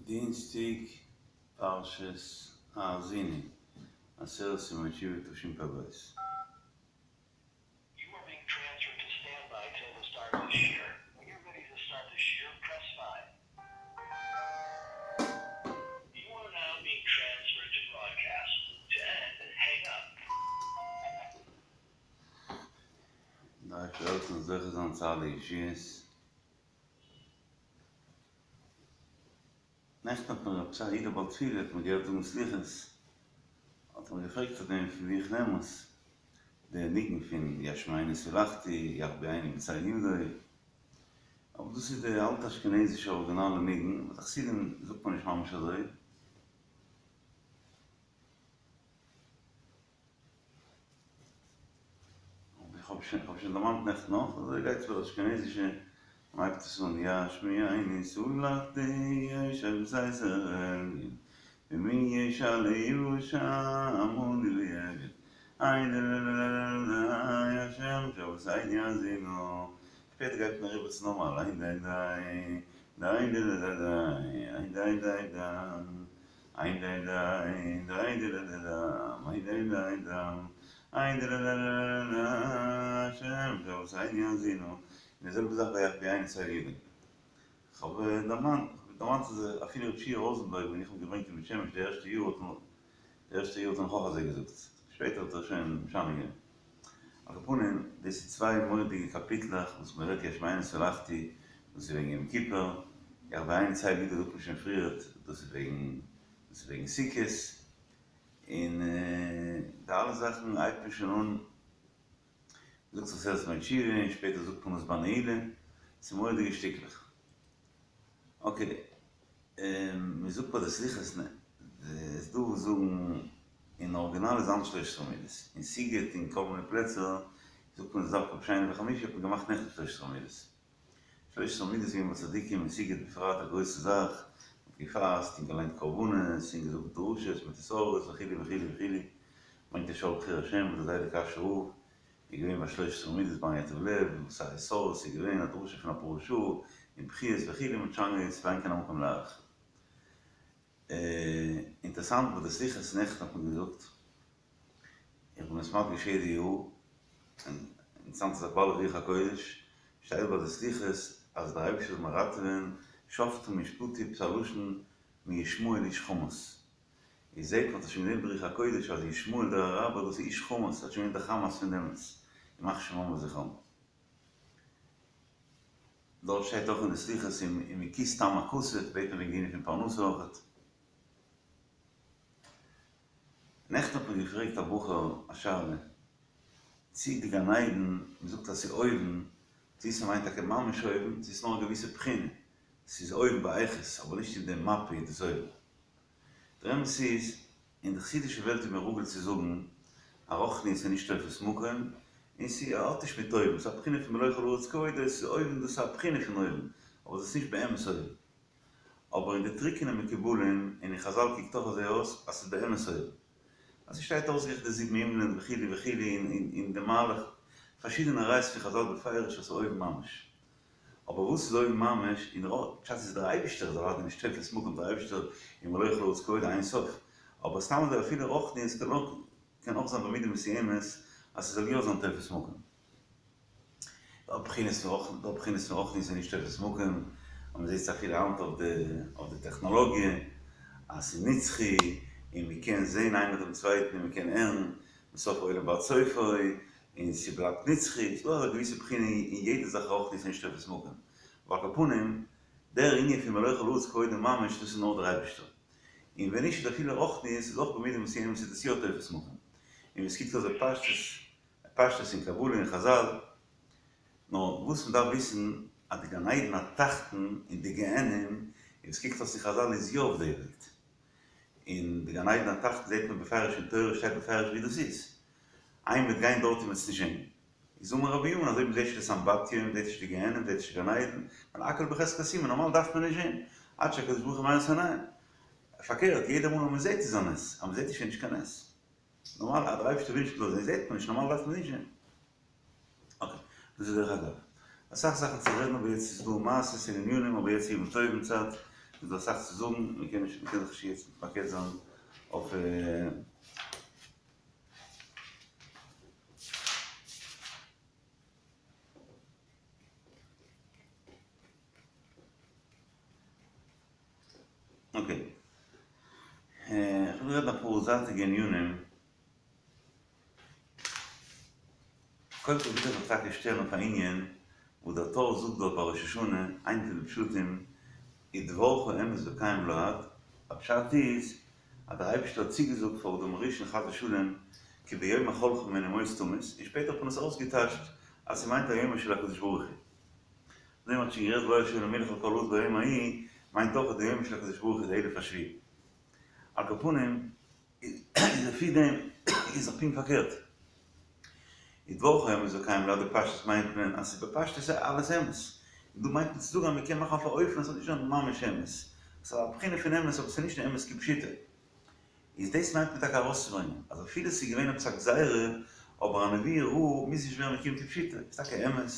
דינסטאג פרשת האזינו, עשרת ימי תשובה תשפ"ב. דער אייבערשטער זאל העלפן זוכה זיין צו אלע ישועות. נעכטן האט מיר עפעס א איד א בעל תפילה האט מיר געהערט זאגן סליחות, האט ער מיר געפרעגט אויף דעם פון ווי איך נעם עס, די ניגון פון ישמענו סלחתי יחביאנו בצל ידו, אבער דאס איז די אלטע אשכנזישע אריגינאלע ניגון, ביי די חסידים זאגט מען נישט ממש אזוי. איך האב שוין, איך האב שוין דערמאנט נעכטן אויך, אזוי גייט עס ביי די אשכנזישע, מען הייבט עס אן ישמיעני סלחתי יושב בסתר עליון ומי ישלה ישע עמני ואביון איי די ל ל ל ל ל השם שאבותינו האזינו שפעטער גייט מען אריבער צו נארמאל איי דיי דיי דיי די ל ל דיי איי דיי דיי דיי איי דיי דיי דיי די ל ל דם איי דיי דיי דם איי די ל ל ל ל השם שאבותינו האזינו און די זעלבע זאך ביי יחביאנו בצל ידו. כ'האב דערמאנט דערמאנט אז אפילו ר' שיע ראזענבערג ווען איך האב געברענגט אין בית שמש די ערשטע יאר האט מען די ערשטע יאר האט ער נאך אויך אזוי געזאגט שפעטער האט ער שוין משנה געווען. על כל פנים דאס איז צוויי מורא'דיגע קאפיטלעך וואס מען רעדט ישמענו סלחתי דאס איז וועגן יום כיפור, יחביאנו בצל ידו זאגט מען שוין פריערט דאס איז וועגן דאס איז וועגן סוכות, און די אלע זאכן הייבט מען שוין אן, מ'זאגט עשרת ימי תשובה און שפעטער זאגט מען עס ביי נעילה, ס'איז מורא'דיגע שטיקלעך. אקעי, מען זאגט ביי די סליחות, ס'איז דא וואס זאגן אין ארגינאל איז אנדערש שלש עשרה מידות, אין סיגוט און כל מיני פלעצער זאגט מען עס דווקא בשני וחמישי האט מען געמאכט נעכטן שלש עשרה מידות. שלש עשרה מידות איז געווען ביי צדיקים אין סיגוט בפרט א גרויסע זאך, מען האט געפאסט און געליינט קרבנות און געזאגט דרשות מיט התעוררות וכו' וכו' וכו', ברענגט דער שער בחיר השם וואס דער זיידע קאשוי רב איז געווען ביי שלש עשרה מידות ביים ייטב לב, וואס א התעוררות איז געווען, א דרשה פון אפאר שעה, און בכיות וכו', מען האט שוין געוואוסט ואין כאן המקום להאריך. אינטערסאנט ביי די סליחות נעכטן האט מען געזאגט, איך בין עס מדגיש יעדע יאר, און אינטערסאנט איז א בעל רוח הקודש, שטייט ביי די סליחות אז דער אייבערשטער זאל מיר ראטעווען, שפטים ישפטו עפעס א לשון מישמעאל איש חמס, איז זעהט מען האט עס שוין געזעהן ברוח הקודש אז ישמעאל דער אראבער דאס איז איש חמס האט שוין געווען די חמאס פון דעמאלטס, ימח שמם וזכרם. דארט שטייט אויך אין די סליחות ומכיס טעם הכסף בעט מען וועגן די ענין פון פרנסה אויכעט. נעכטן האט מיר געפרעגט א בחור א שאלה, צי די גן עדן, מען זאגט אז ס'איז אויבן, צי ס'מיינט טאקע ממש אויבן, צי ס'איז נאר א געוויסע בחינה, ס'איז אויבן באיכות, אבער נישט אין די מפה איז דאס אויבן. דער אמת איז, אין די חסידישע וועלט איז מען רגיל צו זאגן אז רוחניות איז נישט תופס מקום, און ס'האט נישט מיט אויבן, ס'איז א בחינה פון מלא כל הארץ כבודו, ס'איז אויבן, דאס איז א בחינה פון אויבן, אבער דאס איז נישט באמת אויבן. אבער אין די טרוקענע מקובלים און אין חזל קוקט אויך אזוי אויס אז ס'איז באמת אויבן. אז ס'שטייט אויסגערעכנט די זיבן הימלען וכו' וכו' און די מהלך, פארשידענע ראיות פון חזל בפירוש אז ס'איז אויבן ממש. אבער וואס איז אויבן ממש, אין רא פשט איז דער אייבישטער איז אוודאי נישט תופס מקום דער אייבישטער איז מלא כל הארץ כבודו אין סוף, אבער סתם אזוי אפילו רוחניות קען אויך קען אויך זיין במידה מסוימת אז ס'זאל יא זיין תופס מקום. דא בחינות פון רוח דא בחינות פון רוחניות איז נישט תופס מקום, אז מ'זעט עס אפילו היינט אויף די אויף די טעכנאלאגיע אז ס'איז נצחי און מ'קען זען איינער דעם צווייטן און מ'קען הערן מסוף העולם ועד סופו, און ס'בלייבט נצחי, ס'דא אזא געוויסע בחינה אין יעדע זאך רוחניות איז נישט תופס מקום, אבער על כל פנים, דער ענין פון מלא כל הארץ כבודו ממש דאס איז נאר דער אייבערשטער, און ווען נישט איז אפילו רוחניות איז אויך במידה מסוימת איז דאס יא תופס מקום, און ווי ס'קוקט אויס בפשטות, פשטות אין קבלה און חזל, נאר וואס מ'דארף וויסן אז די גן עדן התחתון און די גיהנום, און ווי ס'קוקט אויס אין חזל איז יא אויף די וועלט, און די גן עדן התחתון זעט מען בפירוש אין תורה שטייט בפירוש ווי דאס איז, איי מ'וועט גיין דארט און מ'וועט עס נישט זען. איז אמר רבי בנימין אז אויב מ'זעט נישט די סמבטיון, מ'זעט נישט די גיהנום, מ'זעט נישט די גן עדן, ווייל הכל בחזקת סומא, נארמאל דארף מען נישט זען, עד שהקדוש ברוך הוא מאיר את עיניהם. פארקערט, יעדע מאל אז מ'זעט איז א נס, אז מ'זעט נישט איז נישט קיין נס. נארמאל אז דער אייבערשטער וויל נישט מ'זאל זען זעט מען נישט, נארמאל דארף מען נישט זען. אקעי, דאס איז דרך אגב. אסאך זאכן צו רעדן אבער יעצט איז דא מעשות און ענינים אבער יעצט איז ימים טובים צייט. איז דא אסאך צו זאגן, מען קען נישט, מען קען זיך נישט יעצט מתמקד זיין אויף. אקעי. איך וויל רעדן אפאר זייטיגע ענינים. קודם כל וויל איך זיך טאקע שטעלן אויף א ענין וואס דער טור זאגט דארט ביי ראש השנה, איינע פון די פשטים, ודברך אמת וקיים לעד, א פשט איז אז דער אייבערשטער האט צוגעזאגט פאר אדם הראשון חס ושלום כי ביום אכלך ממנו מות תמות, און שפעטער האט מען עס אויסגעטייטשט אז ס'מיינט א יומו של הקדוש ברוך הוא. דעם האט שוין גערעדט והיה השם למלך על כל הארץ ביום ההוא, מיינט אויך אז די יומו של הקדוש ברוך הוא איז די אלף השביעי. על כל פנים, איז לפי דעם איז דאך פונקט פארקערט. ודברך אמת וקיים לעד בפשטות מיינט מען אז ס'איז בפשטות איז אלעס אמת. און דא מיינט מען צו זאגן אז מ'קען מאכן אויף א אופן אז ס'זאל נישט זיין ממש אמת. ס'איז א בחינה פון אמת אבער ס'איז נישט די אמת כפשוטו. איז דאס מיינט מען טאקע ארויסצוברענגען אז אפילו ס'איז געווען עפעס א גזירה אבער א נבואה רעה מוז נישט ווערן מקוים כפשוטו. ס'איז טאקע אמת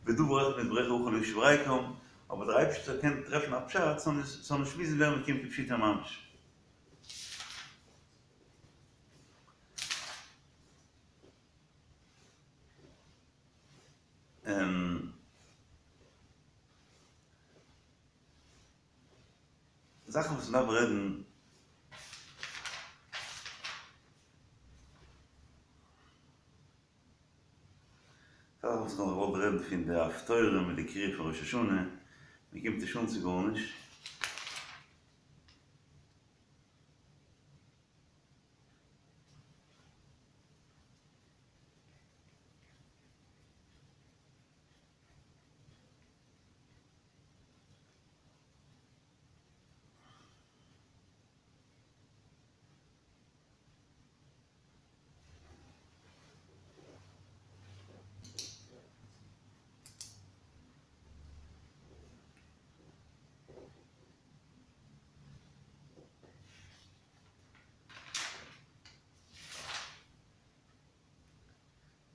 ודבר אחד מדבריך יכול להשיב ריקם אבער דער אייבערשטער קען טרעפן א פשט ס'זאל נישט מוזן ווערן מקוים כפשוטו ממש. זאכן וואס מ'דארף רעדן. זאכן וואס כ'האב געוואלט רעדן פון די הפטורה מיט די קריאה פון ראש השנה, מ'קומט נישט אן צו גארנישט.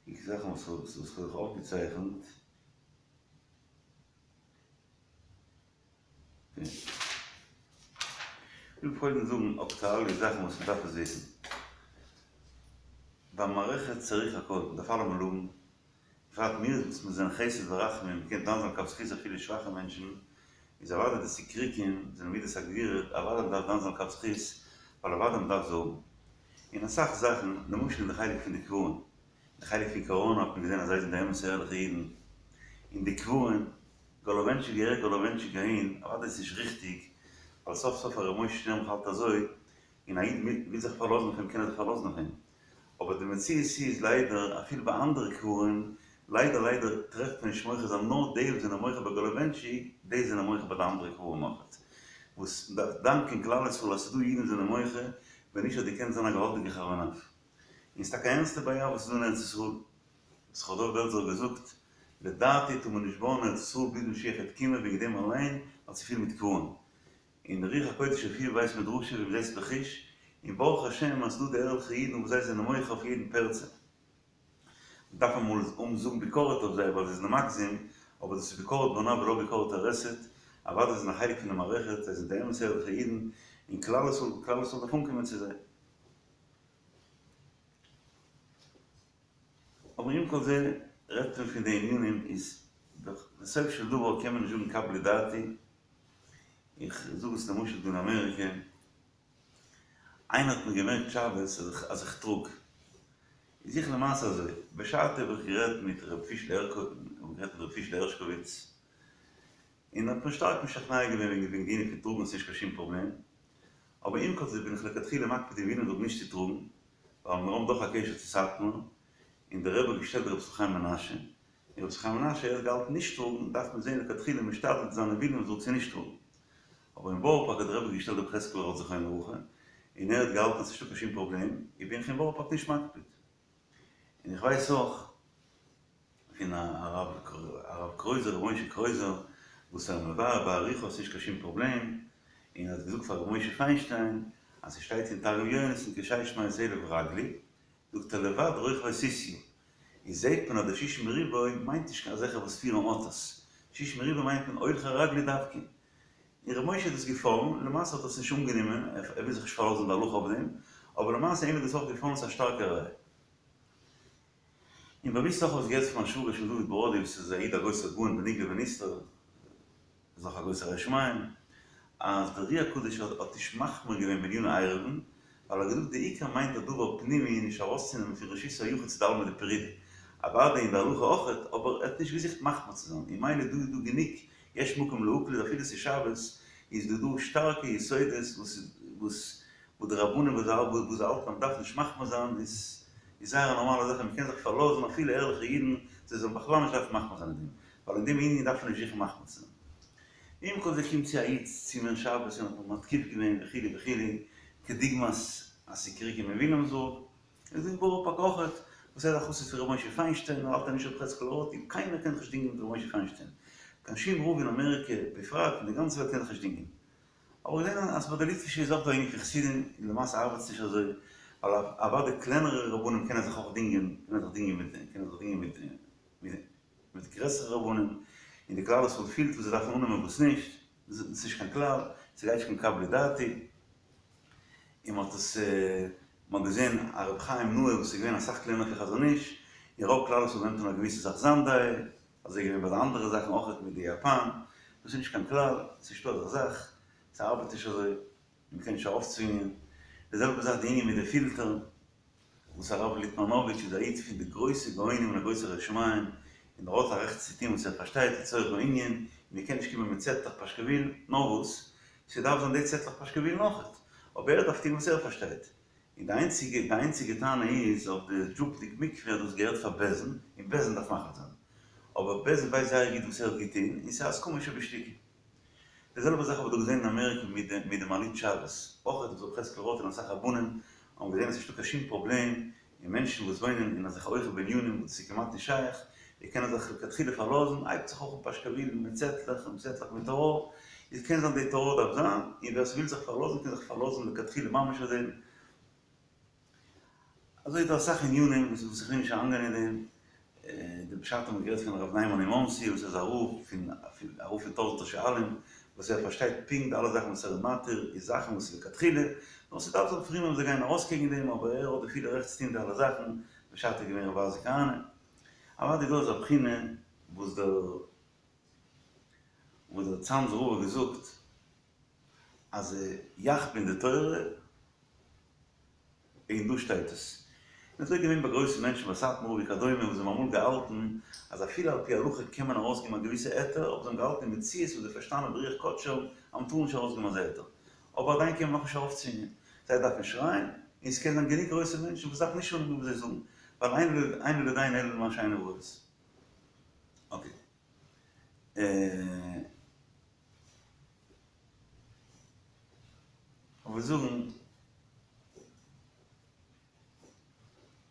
די זאכן וואס וואס כ'האב זיך אויפגעצייכנט. כ'וויל קודם זאגן אקטואלע זאכן וואס מ'דארף עס וויסן. במערכת צריך הכל, מ'דארף אלעמאל האבן בפרט מיר וואס מיר זענען חסד ורחמים, מ'קען דן זיין לכף זכות אפילו שוואכע מענטשן, איז אוודאי די סיקריקים זענען מידת הגבורה, אוודאי מ'דארף דן זיין לכף זכות, ווייל אוודאי מ'דארף זיי האבן. אין אסאך זאכן, למשל אין די חלק פון די קברים, די חלק פון קאראנא האט מען געזען אז זיי זענען די אמת'ע ערליכע אידן, אין די קברים, גאלאווענטשיק אהער גאלאווענטשיק אהין, אוודאי איז נישט ריכטיג, ווייל סוף סוף הרב משה שטערנבוך האלט אזוי, און א איד וויל זיך פארלאזן אויף אים קען ער זיך פארלאזן אויף אים, אבער די מציאות איז ליידער אפילו ביי אנדערע קברים, ליידער ליידער טרעפט מען נישט מוחה זיין נאר די וואס זענען מוחה ביי גאלאווענטשיק, די זענען מוחה ביי די אנדערע קברים אויכעט, וואס מ'דארף דאנקען כלל ישראל אז ס'איז דא אידן וואס זענען מוחה, ווען נישט האט געקענט זיין א געוואלדיגע חרון אף. און ס'איז טאקע א ערנסטע בעיה וואס איז דא אין ארץ ישראל, וואס ר' דוב בעלזער האט געזאגט, לדעתי טאר מען נישט בויען אין ארץ ישראל ביז משיח העט קומען וועגן דעם אליין ווייל ס'איז פיל מיט קברים. און רוח הקודש הופיע בבית מדרשו ווי מ'זעט בחוש, און ברוך השם אז ס'דא די ערליכע אידן וואס זיי זענען מוחה אויף יעדן פרצה. מ'דארף אמאל אנזאגן ביקורת אויף זיי ווייל זיי זענען מגזים, אבער דאס איז ביקורת בונה ולא ביקורת הורסת, אוודאי זיי זענען א חלק פון די מערכת, זיי זענען די אמת'ע ערליכע אידן, און כלל ישראל כלל ישראל דארף אנקומען צו זיי. אבער עם כל זה רעדט מען פון די ענינים איז דאך בסוף של דבר קען מען נישט זאגן קבלי דעתי, איך זאג עס למשל דא אין אמעריקע, איינער האט מיר געמערקט שבת אז איך טראג, איז איך למעשה אזוי, בשעתו האב איך גערעדט מיט ר' פישל הערשקאוויץ, און ער האט מיר שטארק משכנע געווען וועגן די ענין פון טראגן ס'נישט קיין שום פראבלעם, אבער עם כל זה בין איך לכתחילה מקפיד אין וויליאמסבורג נישט צו טראגן, ווייל מיר האבן דאך א קשר צו סאטמאר, און דער רבי האט געשטעלט ר' ישראל חיים מנשה, און ר' ישראל חיים מנשה ער האט געהאלטן נישט טראגן, דארף מען זען לכתחילה משתדל צו זיין אין וויליאמסבורג צו נישט טראגן. אבער אין בארא פארק האט דער רבי געשטעלט ר' חזקאל ראטה זכרונו לברכה, און ער האט געהאלטן אז ס'נישטא קיין שום פראבלעם, איז בין איך אין בארא פארק נישט מקפיד. און איך ווייס אויך פון הרב הרב קרויזער ר' משה קרויזער וואס ער מבאר באריכות ס'נישט קיין שום פראבלעם, און ער האט געזאגט פאר ר' משה פיינשטיין אז ס'שטייט אין תרגום יונתן כשש מאות אלף רגלי, זאגט ער לבד רוכבי סוסיא, איז זעהט מען אז די שישים ריבוא מיינט נישט קיין אזעלכע וואס פירן אויטאס, שישים ריבוא מיינט מען הולכי רגלי דווקא. און ר' משה איז דאס געפאלן, למעשה האט ער עס נישט אנגענומען, ער וויל זיך נישט פארלאזן די הלכה אויף דעם, אבער למעשה אים איז דאס אויך געפאלן, ס'איז א שטארקע ראיה. און באוויסט אויך האב איך געהערט פון מיין שוואגער שמואל דוד בראדי וואס איז א איד א גרויסער גאון בנגלה ונסתר, איז אויך א גרויסער ירא שמים, אז דער אר"י הקדוש האט האט נישט מחמיר געווען בעניני עירובין, ווייל ער האט געזאגט די עיקר מיינט א דבר פנימי נישט ארויסצונעמען פון רשות היחיד צו די עלמא דפרידא, אוודאי אין די הלכה אויכעט, אבער ער האט נישט געזוכט מחמיר צו זיין, און ממילא דא איז דא גענוג יש מקום להקל אז אפילו ס'איז שבת איז דא דא שטארקע יסודות וואס וואס וואס די רבנים וואס זיי וואס זיי האלטן אז מ'דארף נישט מחמיר זיין איז איז זייער א נארמאלע זאך און מ'קען זיך פארלאזן אפילו ערליכע אידן זיי זאלן בכלל נישט דארפן מחמיר זיין אין דעם ווייל אין דעם ענין דארף מען נישט זוכן מחמיר צו זיין. עם כל זה קומט צו א איד צו מיר שבת און האט מיך מתקיף געווען וכו' וכו' כדוגמת הסיקריקים אין וויליאמסבורג, איז דא אין בארא פארק אויכעט, וואס ער איז א חסיד פון ר' משה פיינשטיין, ער האלט אז נישט ר' חזקאל ראטה, קיינער קען זיך נישט דינגען מיט ר' משה פיינשטיין, קיין שום רב אין אמעריקע בפרט און די גאנצע וועלט קען זיך נישט דינגען. אבער געזען אז ביי די ליטווישע איז אויך דא ענין פון חסידים, און למעשה ארבעט עס נישט אזוי, ווייל אוודאי קלענערע רבנים קענען זיך אויך דינגען, קענען זיך דינגען מיט, קענען זיך דינגען מיט מיט גרעסערע רבנים, און די כלל ישראל פילט וואס זיי דארפן אננעמען וואס נישט, ס'איז נישט קיין כלל, ס'גייט נישט קיין קבלי דעתי, און מ'האט עס, מ'האט געזען א רבי חיים נאה וואס איז געווען אסאך קלענער פון חזון איש, און רוב כלל ישראל נעמט אן א געוויסע זאך זיין דעה, אזוי איז געווען ביי די אנדערע זאכן אויכעט מיט די יאפאן, דאס איז נישט קיין כלל, ס'איז נישטא אזא זאך, ס'ארבעט נישט אזוי, און מ'קען נישט ארויפצווינגען, די זעלבע זאך די ענין מיט די פילטער. וואס הרב ליטמאנאוויטש איז א איד פון די גרויסע גאונים און א גרויסער ירא שמים, און ער האט א רעכט צו טון וואס ער פארשטייט לצורך הענין, און מען קען נישט קומען מיט צעטלעך פאשקעווילן, נאר וואס, ס'דארף זיין די צעטלעך פאשקעווילן אויכעט, אבער ער דארף טון וואס ער פארשטייט. און די איינציגע די איינציגע טענה איז אויף די זשופניק מקווה אז דאס געהערט פאר בית דין, און בית דין דארף מחליט זיין. אבער בית דין ווייסט זייער גוט וואס ער האט געטון, און ס'איז הסכמה שבשתיקה. די זעלבע זאך האב איך דא געזען אין אמעריקע מיט די מיט די מעלית שבת, אויך האט ר' חזקאל ראטה און אסאך רבנים האבן געזען אז ס'נישטא קיין שום פראבלעם, און מענטשן וואס וואוינען אין אזעלכע הויכע בנינים וואס דאס איז כמעט נישט שייך, די קענען זיך לכתחילה פארלאזן, הייבט זיך אויך אן פאשקעווילן מיט צעטלעך און צעטלעך מיט טעראר, איז קען זיין די טעראר דארף זיין, און ווער ס'וויל זיך פארלאזן קען זיך פארלאזן לכתחילה ממש אויף דעם. אזוי איז דא אסאך ענינים וואס איך וויל נישט אריינגיין אין דעם, די בשעתו האט מען גערעדט פון הרב ניימאן אין מאנסי וואס איז א רב פון א רב פון טויזענטער שואלים, וואס ער פארשטייט פונקט די אלע זאכן וואס ער איז מתיר איז זאכן וואס איז לכתחילה, נאר ס'דארף זיין פרומע וואס זיי גייען ארויס קעגן דעם אבער ער האט די פולע רעכט צו טון די אלע זאכן, בשעתו איז געווען ר' אייזיק כהנא. אוודאי איז דא אזא בחינה וואס דער וואס דער צאנזער רב האט געזאגט אז יחפין די תורה, און דא שטייט עס. און אזוי געווען ביי גרויסע מענטשן ביי סאטמאר וכדומה וואס זיי האבן אמאל געהאלטן אז אפילו על פי הלכה קען מען ארויסגעבן א געוויסע היתר, אבער זיי האבן געהאלטן אין מציאות וואס זיי פארשטאנען ברוח קדשם אז מ'טאר נישט ארויסגעבן אזא היתר. אבער עדיין קען מען נאכנישט ארויפצווינגען. זיי דארפן שרייען, און ס'קען זיין גענוג גרויסע מענטשן וואס דארפן נישט אננעמען וואס זיי זאגן, ווייל אין לו לדיין אלא למה שעיניו רואות. אקעי. כ'וועל זאגן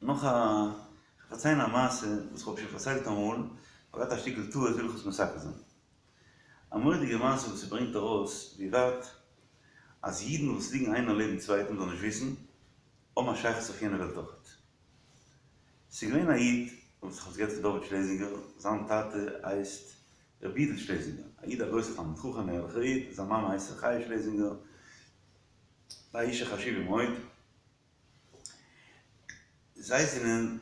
נאך א, כ'וועל פארציילן א מעשה וואס כ'האב שוין פארציילט אמאל, כ'האב געהאט א שטיקל טעות וויל איך עס מתקן זיין. א מורא'דיגע מעשה וואס ס'ברענגט ארויס ווי ווייט אז אידן וואס ליגן איינער לעבן צווייטן זאלן נישט וויסן, האבן א שייכות אויף יענע וועלט אויכעט. ס'איז געווען א איד, וואס כ'האב עס געהערט פון דוד שלעזינגער, זיין טאטע הייסט רבי יודל שלעזינגער, א איד א גרויסער תלמיד חכם, א ערליכער איד, זיין מאמע הייסט ר' חיה שלעזינגער, א אישה חשובה מאוד, זיי זענען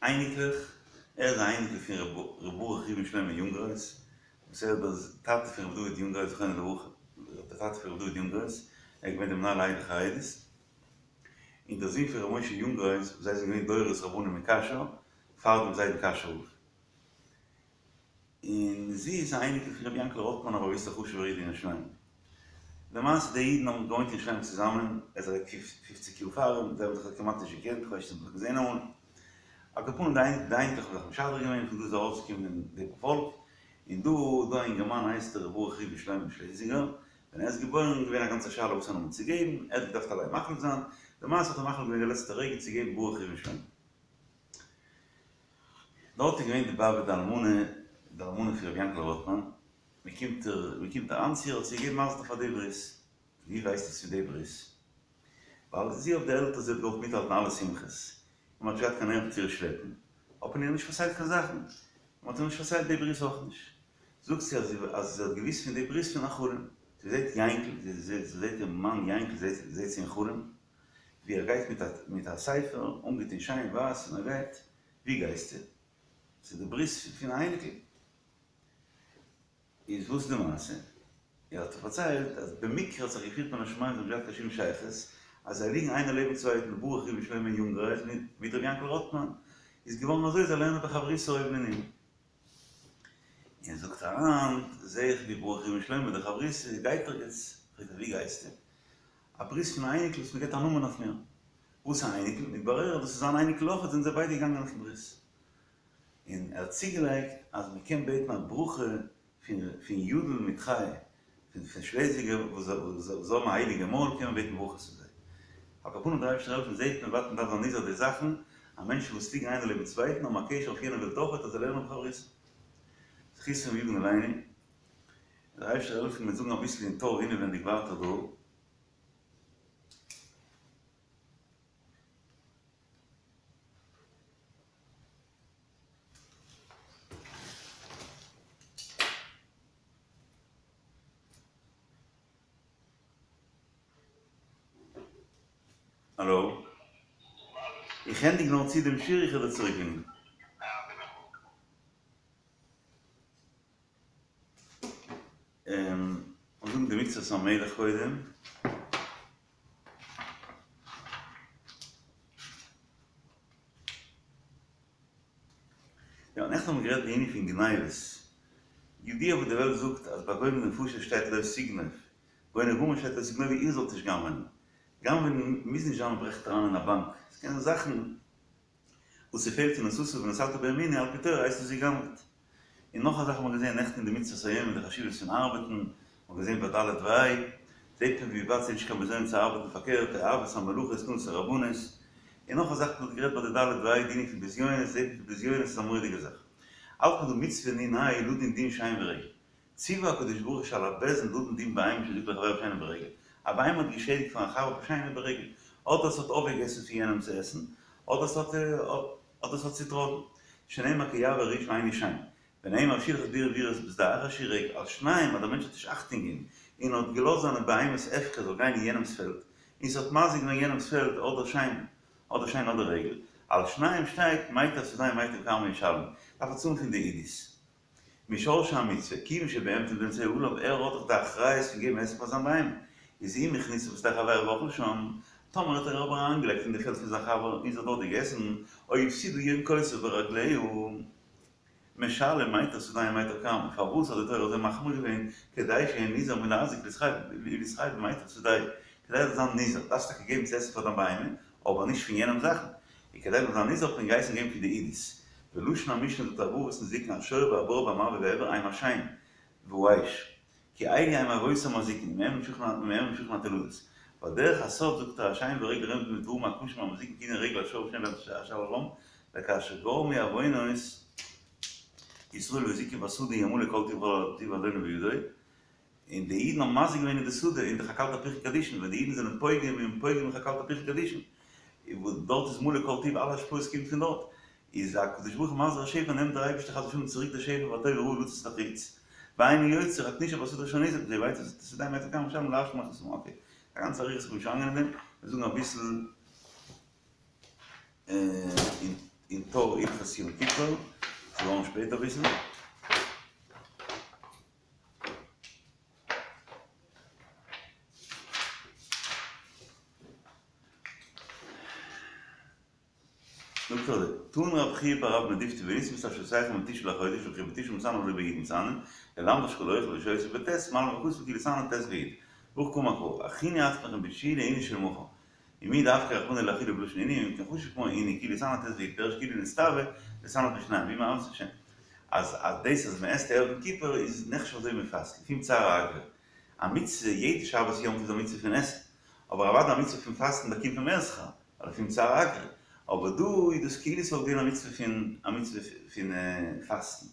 אייניקלעך, ער איז א אייניקל פון ר' ברוך ראובן שלמה יונגרייז, וואס ער איז דער טאטע פון ר' דוד יונגרייז זכרונו לברכה, דער טאטע פון ר' דוד יונגרייז, ער איז געווען דער מנהל העדה החרדית. און דער זון פון ר' משה יונגרייז וואס זיי זענען געווען דורות רבנים אין קאשוי, פאר דעם זיידן קאשוי רב. און זי איז א אייניקל פון רבי יענקל רוטמאן א באוויסטער חשובער איד אין ירושלים. למעשה די אידן האבן געוואוינט אין ירושלים צוזאמען, ער איז אוועק פופציג יאר פאר אים, זיי האבן זיך כמעט נישט געקענט, כ'ווייס נישט צו מ'האט זיך געזען אמאל. על כל פנים די אייניקלעך האבן זיך משדך געווען, פון דא איז ארויסגעקומען די פארפאלק, און דא איז דא א אינגערמאן הייסט ער ר' ברוך ראובן שלמה שלעזינגער, ווען ער איז געבוירן איז געווען א גאנצע שאלה וואס א נאמען צו געבן, ער האט געדארפט אליין מחליט זיין, למעשה האט ער מחליט געווען די לעצטע רגע צו געבן ברוך ראובן שלמה. דארט איז געווען די באבע די אלמנה, די אלמנה פון רבי יענקל רוטמאן, מען קומט מען קומט אריין צו איר האט זי געגעבן מזל טוב פאר די ברית, ווי ווייסט עס פון די ברית? ווייל זי אויף די עלטער זי האט געוואלט מיטהאלטן אלע שמחות, און מען האט נישט געהאט קיין נערוון צו איר שלעפן. האט מען איר נישט פארציילט קיין זאכן, מען האט איר נישט פארציילט די ברית אויך נישט. זאגט זי אז זי האט געוואוסט פון די ברית פון א חלום, זי זעט יענקל, זי זעט איר מאן יענקל זעט זי אין חלום, ווי ער גייט מיט א ספר, אנגעטון שיין ווייס, און ער גייט, ווי גייסטו? ס'איז די ברית פון א אייניקל. איז וואס איז די מעשה? ער האט פארציילט אז במקרה האט זיך געפירט מן השמים זיי האבן נישט געהאט קיין שום שייכות, אז זיי ליגן איינער לעבן צווייטן ברוך ראובן שלמה יונגרייז מיט ר' יענקל רוטמאן, איז געווארן אזוי זיי לערנען בחברותא אויבן און אונטן. און זאגט ער היינט זעה איך ווי ברוך ראובן שלמה דער חברותא גייט ערגעץ, פרעגט ער ווי גייסטו? א ברית פון א אייניקל וואס מ'געט א נאמען אויף מיר. וואס א אייניקל? מתברר אז דאס איז זיין אייניקל אויכעט זענען זיי ביידע געגאנגען אויפן ברית. און ער האט צוגעלייגט אז מען קען בעטן א ברכה פון פון יודל מיט חי פון שלעזינגער וואס זיי האבן א הייליגע מויל קען מען בעטן ברכות פון זיי. על כל פנים דער אייבערשטער העלפן זעט מען וואס מען דארף זיין נזהר די זאכן אז מענטשן וואס ליגן איינער לעבן צווייטן האבן א קשר אויף יענע וועלט אויכעט אז זיי לערנען בחברותא. זכותם יגן עלינו. דער אייבערשטער העלפן מיר זאגן אביסל אין טור אינעווענדיג ווייטער דא. האלא? איך ענדיג נאר צו דעם שיעור איך וועל דיר צוריקרינגען. און זאגן די מצוות המלך קודם. יא, נעכטן האבן מיר גערעדט די ענין פון גניבות. ידוע וואס די וועלט זאגט אז ביי גונב נפשות שטייט לא תגנוב, גונב ממון שטייט לא תגנובו איר זאלט נישט גנב'ענען. גנב'ענען מוז נישט זיין מ'ברעכט אריין אין א באנק, עס קען זיין זאכן וואס ס'פעלט און נשאת ונתת בימינו על פי תורה הייסט עס גע'גנב'ט. און נאך א זאך האט מען געזען נעכטן אין די מצוות היום אין די חשיבות פון ארבעטן, מען האט געזען ביי ד' וה', זעט מען ווי ווייט ס'איז נישט קיין בזיון צו ארבעטן פארקערט, אהבת המלאכה איז תנא רבנות, און נאך א זאך מען האט גערעדט ביי די ד' וה' די ענין פון בזיונות, זעט מען ווי בזיונות איז א מורא'דיגע זאך. האלט מען דא מצוה נ"ה לדון דין שן ורגל. ציווה הקדוש ברוך הוא שעל הבית דין לדון דין בהמה שהזיקה לחבירו בשן וברגל. א בהמה האט געשעדיגט פארן חבר בשן וברגל. אדער עס האט אויפגעגעסן פון יענעם צו עסן, אדער עס האט אדער עס האט צוטראטן. שנאמר כי יעבור איש ואינו שן. ונאמר שילח את בעירו וירש בשדה אחר שהוא רגל. על שניים אז דער מענטש האט נישט אכטונג געגעבן און האט געלאזט זיינע בהמות הפקר זאל גיין אין יענעמס פעלד, און ס'האט מזיק געווען יענעמס פעלד אדער שן אדער שן אדער רגל. על שניים שטייט מיטב שדהו ומיטב כרמו ישלם. דארף ער צאלן פון די עידית. משרשי המצוה, כיוון שבהמתו ניתנה עליו, ער האט דאך די אחריות פון געבן עסן פאר זיין בהמה, איז אם הכניסה בשדה חברו ואכלה שם, טאמער האט ער אבער אריינגעלייגט אין די פעלד פון זיין חבר און זי האט דארט געגעסן, או הפסידה יונקותיו ברגליה, משלם מיטב שדהו ומיטב כרמו, פארוואס האט די תורה אזוי מחמיר געווען, כדי שיהא נזהר מלהזיק ולהתחייב במיטב שדהו, כדי ער זאל זיין נזהר, דארפסט טאקע געבן צו עסן פאר דיין בהמה, אבער נישט פון יענעמ'ס זאכן, און כדי מ'זאל זיין נזהר האט מען געהייסן געבן פון די עידית. ולשון המשנה זאגט ארבעה אבות נזיקין השור והבור והמבעה והעבר הם השן והאש כי אלו הם אבות המזיקין ומהם נמשכין התולדות. ועל דרך הסוד זאגט ער השן והרגל רומז בדברים הקשים המזיקין כענין רגל השור ושן בהמתו אשר על וכאשר גרמו עוונות ישראל והזיקו בשדה ימלא כל טוב אדוני בידו און די אידן האבן מזיק געווען אין די שדה אין די חקל תפוחין קדישין, ווען די אידן זענען פוגם און פוגם אין חקל תפוחין קדישין, וואס דארט איז מלא כל טוב אלע השפעות קומט פון דארט, איז הקדוש ברוך הוא מחזיר השפע נעמט דער אייבערשטער חס ושלום צוריק די שפע והטוב והרעה לצאת החוץ, ואינו יוצא רק נשאר בשדה אשר ניזק, אזוי ווייטער שדהו ומיטב כרמו משלם להשלים החסרון, אקעי, א גאנצע אריכות איך בין נישט אריינגיין אין דעם, מיר זאגן אביסל אין טור הלכות יום כיפור, ס'איז געווארן שפעט אביסל. זאגט ער אזוי, תני רב חייא בר רב מדיפתי בניסן בתשמישותיכם בתשעה לחודש וכי בתשעה מתענין ולא בי' מתענין, ללמדך שכל האוכל ושותה בט' מעלין הכתוב כאילו התענה ט' וי'. והכי קאמר קרא, הכינו עצמכם בתשיעי לעינוי של מחר. ומאי דאפקיה רחמנא לאכילה בלשון עינוי, אם כן חשוב כמו עינוי כאילו התענה ט' וי' פירוש כאילו נצטווה להתענות בשניהם, והוא מאוות השם. אז אז דאס אז מען עסט ערב יום כיפור איז נחשב אזוי ווי מען פאסט, לפום צערא אגרא. א מצוה, יעדע שבת יום טוב איז א מצוה פון עסן, אבער אוודאי א מצוה פון פאסטן באקומט מען מער שכר, ווייל לפום צערא אגרא. אבער דא איז דאס כאילו ס'וואלט געווען א מצוה פון א מצוה פון פאסטן.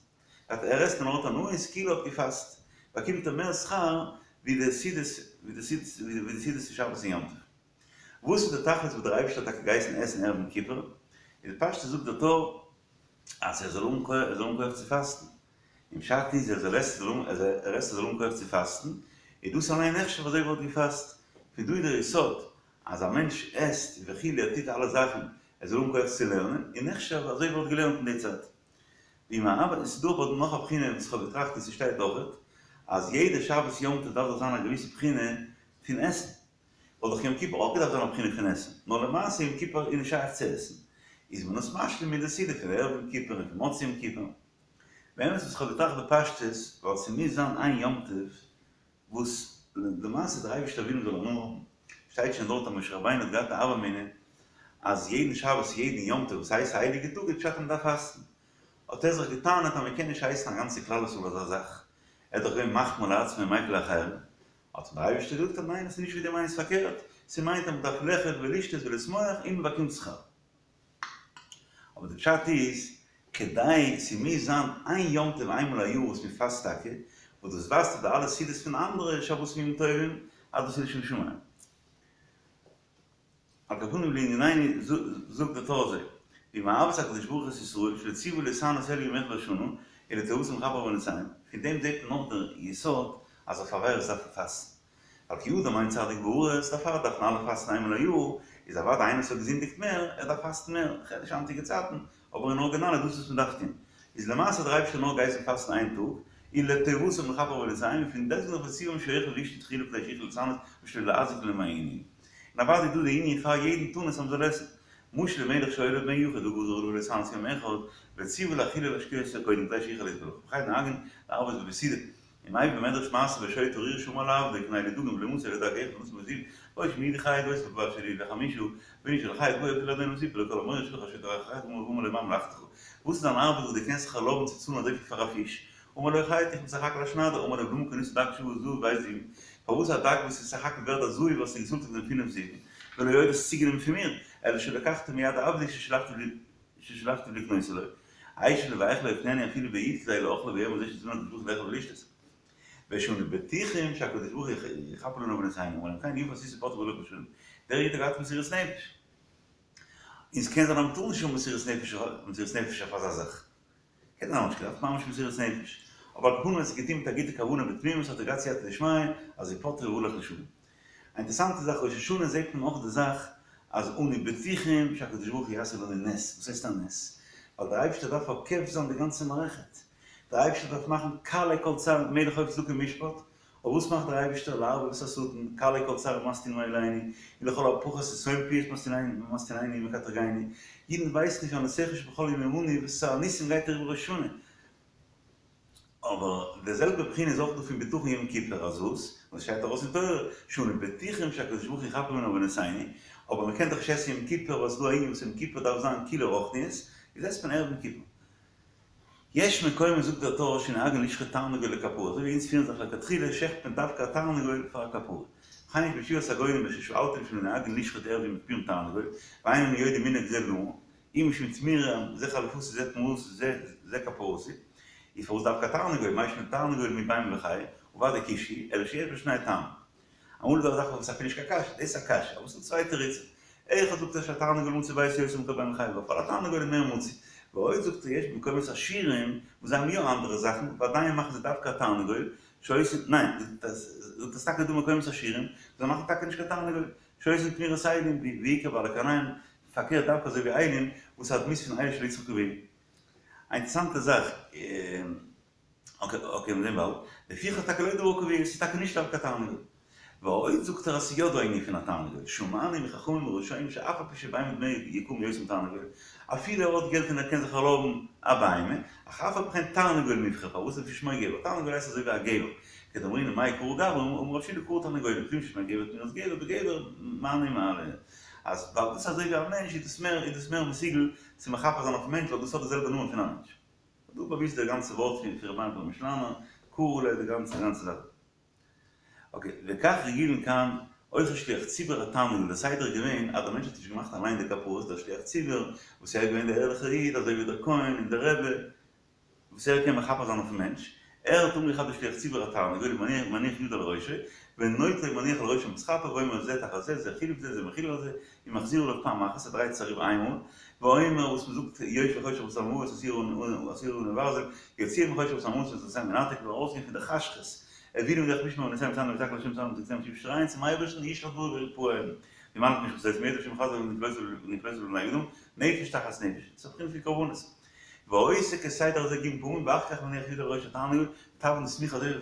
אז ער עסט און ער האט הנאה איז כאילו ער האט געפאסט, באקומט ער מער שכר ווי די סעודות ווי די סעודות ווי די סעודות פון שבת און יום טוב. וואס איז די תכלית וואס דער אייבערשטער האט טאקע געהייסן עסן ערב יום כיפור? איז בפשטות זאגט דער טור. אז ער זאל האבן כח, ער זאל האבן כח צו פאסטן. און פשט איז ער זאל עסן, ער עסט ער זאל האבן כח צו פאסטן, איז דאס אליין נחשב אזוי ווי ער האט געפאסט. פון דא איז דער יסוד אז א מענטש עסט וכו' ער טוט אלע זאכן ער זאל האבן כח צו לערנען, איז נחשב אזוי ווי ער האט געלערנט אין די צייט. ואם האבן, עס איז דא אבער נאך א בחינה וואס איך האב געטראכט און ס'שטייט אויכעט, אז יעדע שבת יום טוב דארף דאך זיין א געוויסע בחינה פון עסן. וואלט דאך יום כיפור אויך געדארפט זיין א בחינה פון עסן, נאר למעשה יום כיפור איז נישט שייך צו עסן, איז מען עס משלים מיט די סעודה פון ערב יום כיפור און פון מוצאי יום כיפור. באמת וואס איך האב געטראכט בפשטות, ווייל ס'מוז זיין איין יום טוב וואס למעשה דער אייבערשטער וויל מ'זאל הנאה האבן, שטייט שוין דארט אז משה רבינו האט געהאט א הוה אמינא אז יעדן שבת יעדן יום טוב וואס הייסט א הייליגע טאג איז פשט אז מ'דארף פאסטן, האט ער זיך געטענה'ט אז מ'קען נישט הייסן א גאנצע כלל ישראל אזא זאך, ער איז דאך געווען מחמיר לעצמו ומיקל לאחרים, האט אים דער אייבערשטער געזאגט אז ניין עס איז נישט ווי דו מיינסט פארקערט, ס'מיינט אז מ'דארף לאכול ולשתות ולשמוח און מ'באקומט שכר. אבער די פשט איז, כדי ס'מוז זיין איין יום טוב איינמאל א יאר וואס מ'פאסט טאקע, וואס דאס ווייזט אויף די אלע סעודות פון אנדערע שבתים ימים טובים אז דאס איז לשם שמים. על כל פנים לענינינו זאגט די טור אזוי, והוא מאהבת הקדוש ברוך הוא את ישראל שלא ציוה להתענות אלא יום אחד בשנה, ולטובתם לכפר עוונותיהם, פון דעם זעט מען נאך דער יסוד אז אויף עבירות דארף מען פאסטן, ווייל כי אדם אין צדיק בארץ, דערפאר דארפן אלע פאסטן איינמאל א יאר, איז אוודאי איינער וואס האט געזינדיגט מער, ער דארף פאסטן מער, כ'רעד נישט היינטיגע צייטן, אבער אין ארגינאל איז דאס וואס מ'דארף טון. איז למעשה האט דער אייבערשטער נאר געהייסן פאסטן איין טאג, ולטובתם לכפר עוונותיהם, און פון דעסטוועגן נאך וציוום שיאכלו וישתו תחילה כדי שיוכלו להתענות ושלא להזיק למעינו. און אוודאי איז דא די ענין פאר יעדן תענית אז מ'זאל עסן. משל למלך שהיה לו בן יחיד וגזר עליו להתענות יום אחד, וציוה להאכילו ולהשקותו קודם כדי שיוכל להתגבר. וכן נוהגין להרבות בסעודה. ומביא במדרש מעשה בשוטה ארורה שאמר לעבדו קנה לי דגים ולא מצא אלא דג אחד ונתן בו זיוף ואו שאם יהיו לי חיה גוסה בלבד שיהיו לי חמשה ואילו של חיה גויה הביא לאדונו וסיפר לו כל המורא שלך השוטה אחר כך ואמר לו מה מלאכתך וואס איז דיין ארבעט וואס דו קענסט זיך ערלויבן צו צאלן אזויפיל פאר א פיש אמר לו חייט איך בין סך הכל א שניידער אמר לו ולמה קנית דג שווה זהב ב' זהובים פארוואס א דג וואס איז סך הכל ווערד א זהב האסטו געצאלט אויף דעם פינף זהובים ולא עוד האסט צוגענומען פון מיר אלא שלקחתו מיד עבדי ששלחתיו לקנותו לו אשל ואיך לא יקננו אפילו ביד כדי לאכלו ביום הזה שציוונו הקדוש ברוך הוא לאכול ולשתות. ושאנו בטוחים שהקדוש ברוך הוא יכפר לנו עוונותינו, אמר להם כן יפה עשית ופטרו והלוך בשלום. דער איד האט געהאט מסירות נפש. און ס'קען זיין אז מ'טאר נישט האבן מסירות נפש מסירות נפש אויף אזא זאך. קען זיין אז מ'האט נישט געדארפט ממש מסירות נפש. אבער על כל פנים עס איז געטון מיט א גוטע כוונה בתמימות האט ער געהאט סייעתא דשמיא אז ופטרו והלך לשלום. א אינטערסאנטע זאך ראש השנה זעט מען אויך די זאך אז אנו בטוחים שהקדוש ברוך הוא יעשה לנו נס, וואס הייסט א נס? ווייל דער אייבערשטער דארף עוקף זיין די גאנצע מערכת, דער אייבערשטער דארף מאכן כלה כל צר מלך חפץ צדקה ומשפט, אבער וואס מאכט דער אייבערשטער לערבב את השטן, כלה כל צר ומסטינם עלינו, ולכל הפחות סתום פיות מסטיננו ומקטרגנו, אידן ווייסן נישט על נסיך שבכל יום עמנו וואס א ניסים גייט אריבער ראש השנה, אבער די זעלבע בחינה איז אויך דא פון בטחון יום כיפור אז וואס? וואס שטייט ארויס אין תורה? שאנו בטוחים שהקדוש ברוך הוא יכפר לנו עוונותינו, אבער מען קען דאך נישט עסן יום כיפור ווייל ס'איז דא א ענין וואס יום כיפור דארף זיין כולו רוחניות, איז עסט מען ערב יום כיפור. יש מקומות זאגט דער טור שנוהגין לשחוט תרנגול לכפרה, אזוי ווי אונז פירן זיך לכתחילה שעכט מען דווקא א תרנגול פאר א כפרה. וכן יש בתשובת הגאונים בששאלתם שלא נוהגין לשחוט ערב יום הכיפורים תרנגול, ואין אני יודע מנהג זה למה, אי משום תמורה זה חליפתי זה תמורתי זה כפרתי, איז פארוואס דווקא תרנגול, מאי שנא תרנגול מבהמה וחיה, וודאי כבש הוא, אלא שיש בו שני טעמים. אמאל איז דא א זאך וואס איז אפילו נישט קיין קשיא, דאס איז א קשיא, אבער עס איז דא צוויי תירוצים. אחד זאגט ער שהתרנגול מצוי בביתו יותר מכל בהמה וחיה, ווייל א תרנגול איז מער מצוי. ועוד זאגט ער יש במקומות עשירים וואס זיי האבן יא אנדערע זאכן, ועדיין מאכן זיי דווקא א תרנגול, שעושים, ניין, זאגט ער ס'טאקע דא מקומות עשירים, זיי מאכן טאקע נישט קיין תרנגול, שעושים תמורת אילים, ובעיקר בעלי קרניים, פארקערט דווקא אזוי ווי אילים, וואס איז א דמות פון איילו של יצחק אבינו. א אינטערסאנטע זאך, אקעי אקעי מיר זעהן באלד, לפיכך טאקע לא דבר קבוע, ס'איז טאקע נישט דווקא א תרנגול. ועוד זאגט ער אז ס'איז יא דא א ענין פון א תרנגול, שמענו מחכמים הראשונים שאף על פי שבהמה דמיה יקרים יותר מתרנגול, אפילו ער האט געלט און ער קען זיך ערלויבן א בהמה, אך אף על פי כן תרנגול מובחר, פארוואס לפי שמו גבר, תרנגול הייסט אזוי ווי א גבר, כדאמרינן מאי קרו גברי אמר רב שילא קרו תרנגולים, לפום ששמו גבר תמורת גבר בגבר מה אני מעלה, אז ווייל דאס איז אזוי ווי א מענטש איז דאס מער איז דאס מער מסוגל צו מכפר זיין אויפן מענטש ווייל דאס האט די זעלבע נאמען פון א מענטש. דא באוויסט דער גאנצע ווארט פון ר' מאיר פרעמישלאנער, קרו ליה די גאנצע גאנצע זאך. אקעי, וכך רגילין כאן, אוכל שליח ציבור התרנגול, דער סדר איז געווען אז דער מענטש האט נישט געמאכט אליין די כפרות, דער שליח ציבור, וואס ער איז געווען דער ערליכער איד, אזוי ווי דער כהן און דער רבי, וואס ער קען מכפר זיין אויפן מענטש, ער האט אנגעכאפט די שליח ציבור התרנגול ומניח ידו על ראשו, ונוטלו ומניח על ראשו ומתכפר ואומר זה תחת זה, זה חילף זה, זה מחיל על זה, ומחזיר עליו פעם אחת, ער דרייט עס אריבער איינמאל, ואומר וואס מ'זאגט יושבי חושך וצלמוות הסירו עלינו ברזל יוציאם מחושך וצלמוות ומתחתיהם ינתק מ'זאל ארויסגיין פון די חשכות הביאנו בדרך משמר בעוונותינו וצלנו ויצעקו לה' וצלנו ותקצנו שרייען צום אייבערשטן ישלח דברו וירפאם וימלט משפטו מידו השם חזק ונפלאותיו לבני אדם נפש תחת נפש ס'איז א בחינה פון קרבנות ועושה כסדר הזה ג' פעמים ואחר כך מניח ידו על ראש התרנגול תבעין די סמיכה אזוי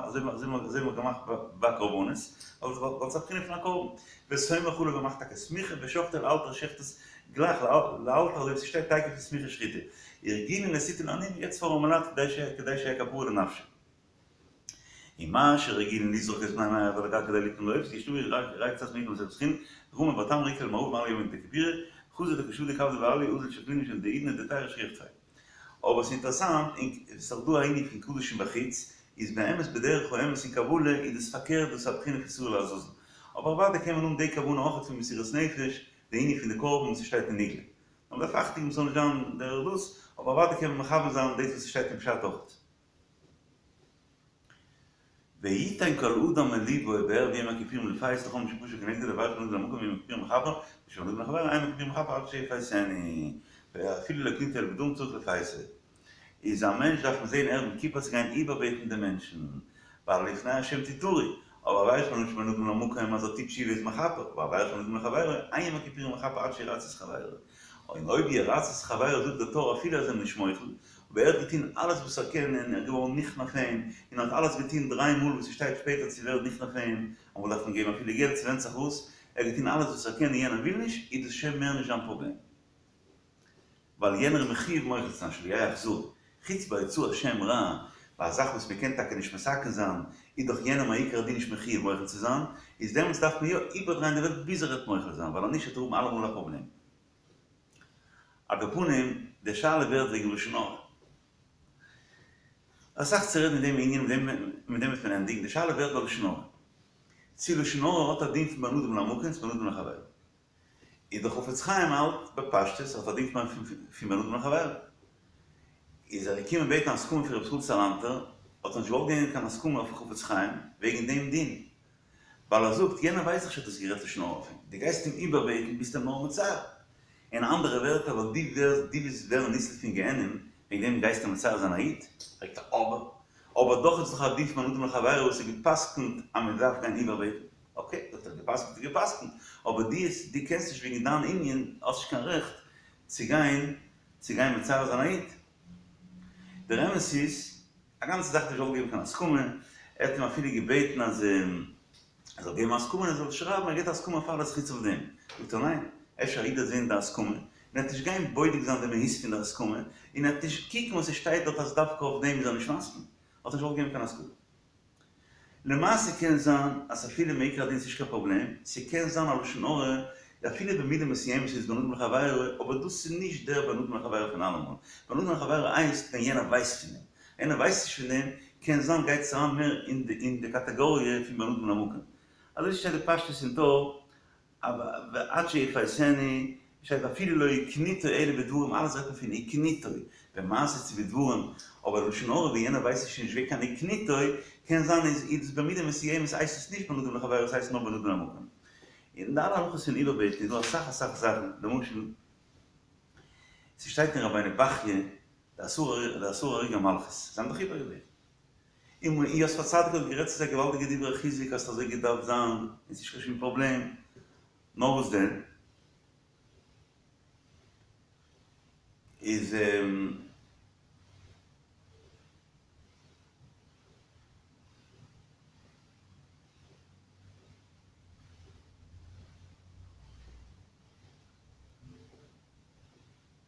אזוי ווי מ'האט געמאכט ביי קרבנות, ווייל ס'איז א בחינה פון א קרבן, וסומך עליו מ'מאכט טאקע סמיכה ושוחטו לאלתר שעכט עס גלייך לאלתר אזוי ווי ס'שטייט תיכף לסמיכה שחיטה, הרגילין לסיטון לעניים מ'געבט פאר ארעמעלייט כדי שיהיה כפרה לנפשו. ומה שרגילין לזרוק את בני מעי על הגג כדי ליתן לעוף, יש לומר רק קצת מעיד במסכת חולין, רמי בר תמרי איקלע למערבא במעלי יומא דכיפורי, חזא דקא שדי כבדא באליה אזל שקלינהו משום דהאידנא דהיתרא שכיח טפי. אבער ס'איז אינטערעסאנט, און ס'איז דאך דא א ענין פון קדשים בחוץ, איז באמת בדרך האמת אין קבלה איז דאס פארקערט דאס איז א בחינה פון שעיר לעזאזל. אבער אוודאי קען מען האבן די כוונה אויך פון מסירות נפש, די ענין פון די קרבן וואס ס'שטייט אין נגלה. נאר מ'דארף אכטונג געבן ס'זאל נישט זיין דרך דאס, אבער אוודאי קען מען מכוון זיין דאס וואס ס'שטייט אין פשט אויך. ויתן כל אדם אל לבו בערב יום הכיפורים לפייס לכל מי שפשע כנגדו לעבירה שבין אדם למקום ויום הכיפורים מכפר ושבין אדם לחברו אין יום הכיפורים מכפר עד שיפייסנו ואפילו לא הקניטו אלא בדברים צריך לפייסו איז א מענטש דארף מען זעהן ערב יום כיפור צו גיין איבערבעטן די מענטשן ווייל לפני השם תטורו אבער עבירה שבין אדם למקום אז ער טוט תשובה איז מכפר אבער עבירה שבין אדם לחברו אין יום הכיפורים מכפר עד שירצה את חברו און אויב ירצה את חברו זאגט דער טור אפילו אז ער איז נישט מוחל אבער ער האט געטון אלעס וואס ער קען און ער איז געווארן נכנע פאר אים, און האט אלעס געטון דריי מאל וואס ס'שטייט שפעטער צו ווערן נכנע פאר אים, אמאל דארף מען געבן אפילו געלט, ס'ווענדט זיך וואס, ער האט געטון אלעס וואס ער קען און יענער וויל נישט, איז דאס שוין מער נישט זיין פראבלעם. ווייל יענער איז מחיוב מוחל צו זיין שלא יהא אכזרי. חוץ ביי הוצאת שם רע, ביי א זאך וואס מ'קען טאקע נישט מתקן זיין, איז דאך יענער מעיקר הדין נישט מחיוב מוחל צו זיין, איז דעמאלטס דארף מען יא איבערדרייען די וועלט ביז ער וועט מוחל זיין, ווייל אנישט וועט ער האבן אלעמאל א פראבלעם. על כל פנים, די שאלה ווערט וועגן לשון הרע. אסאך צו רעדן אין דעם ענין, מיט דעם מיט דעם וועט מען ענדיגן. די שאלה ווערט ביי לשון הרע. צי לשון הרע האט א דין פון בין אדם למקום צו בין אדם לחברו. איז דער חפץ חיים האלט בפשטות האט א דין פון בין אדם לחברו. איז ער געקומען בעטן הסכמה פון רבי ישראל סאלאנטער, האט ער נישט געוואלט געבן קיין הסכמה אויפן חפץ חיים וועגן דעם דין. ווייל ער זאגט, יענער ווייסט דאך נישט אז דו האסט גערעדט לשון הרע אויף אים, דו גייסט אים איבערבעטן ביסט אים נאר מצער. אין אנדערע ווערטער, ווייל דו ווערסט, דו ווילסט ווערן ניצול פון גיהנום, וועגן דעם גייסטו מצער זיין א איד? פרעגט ער, אבער, אבער דאך איז דאך א דין פון בין אדם לחבירו וואס איז גע'פסק'נט אז מען דארף גיין איבערבעטן. אקעי, זאגט ער, גע'פסק'נט איז גע'פסק'נט, אבער דו, דו קענסט נישט וועגן דיין ענין, האסט נישט קיין רעכט צו גיין, צו גיין מצער זיין א איד. דער אמת איז, א גאנצע זאך האט נישט געוואלט געבן קיין הסכמה, ער האט אים אפילו געבעטן אז ער זאל געבן א הסכמה און ער זאל שרייבן ער געבט א הסכמה אויף אלעס חוץ אויף דעם, זאגט ער ניין, אפשר א איד וועט זען די הסכמה און ער וועט נישט גיין בודק זיין די מהות פון די הסכמה און ער וועט נישט קוקן וואס עס שטייט דארט אז דווקא אויף דעם איז ער נישט מסכים, האט ער נישט געוואלט געבן קיין הסכמה. למעשה קען זיין אז אפילו מעיקר הדין ס'נישט קיין פראבלעם, ס'קען זיין א לשון הרע אפילו במידה מסוימת איז בין אדם לחבירו, אבער דאס איז נישט דער בין אדם לחבירו פון אלעמאל, בין אדם לחבירו הייסט ווען יענער ווייסט פון דעם, יענער ווייסט נישט פון דעם, קען זיין גייט עס אריין מער אין די קאטעגאריע פון בין אדם למקום. אזוי שטייט די פשטות אין טור, ועד שיפייסנו, שטייט אפילו לא הקניטו אלא בדברים, אלעס רעדט מען פון הקניטו, במעשה צו בדברים, אבער לשון הרע ווי יענער ווייסט נישט נישט ווער קיין הקניטו, קען זיין איז איז במידה מסוימת הייסט עס נישט בין אדם לחבירו עס הייסט נאר בין אדם למקום. אין די אלע הלכות פון איבערבעטן איז דא אסאך אסאך זאכן, למשל ס'שטייט אין רבינו בחיי די עשרה הרוגי מלכות, זיי האבן דאך איבערגעבעטן. און יוסף הצדיק האט גערעדט צו זיי געוואלדיגע דברי חיזוק אז ס'האט אזוי געדארפט זיין און ס'נישט קיין שום פראבלעם, נאר וואס דען איז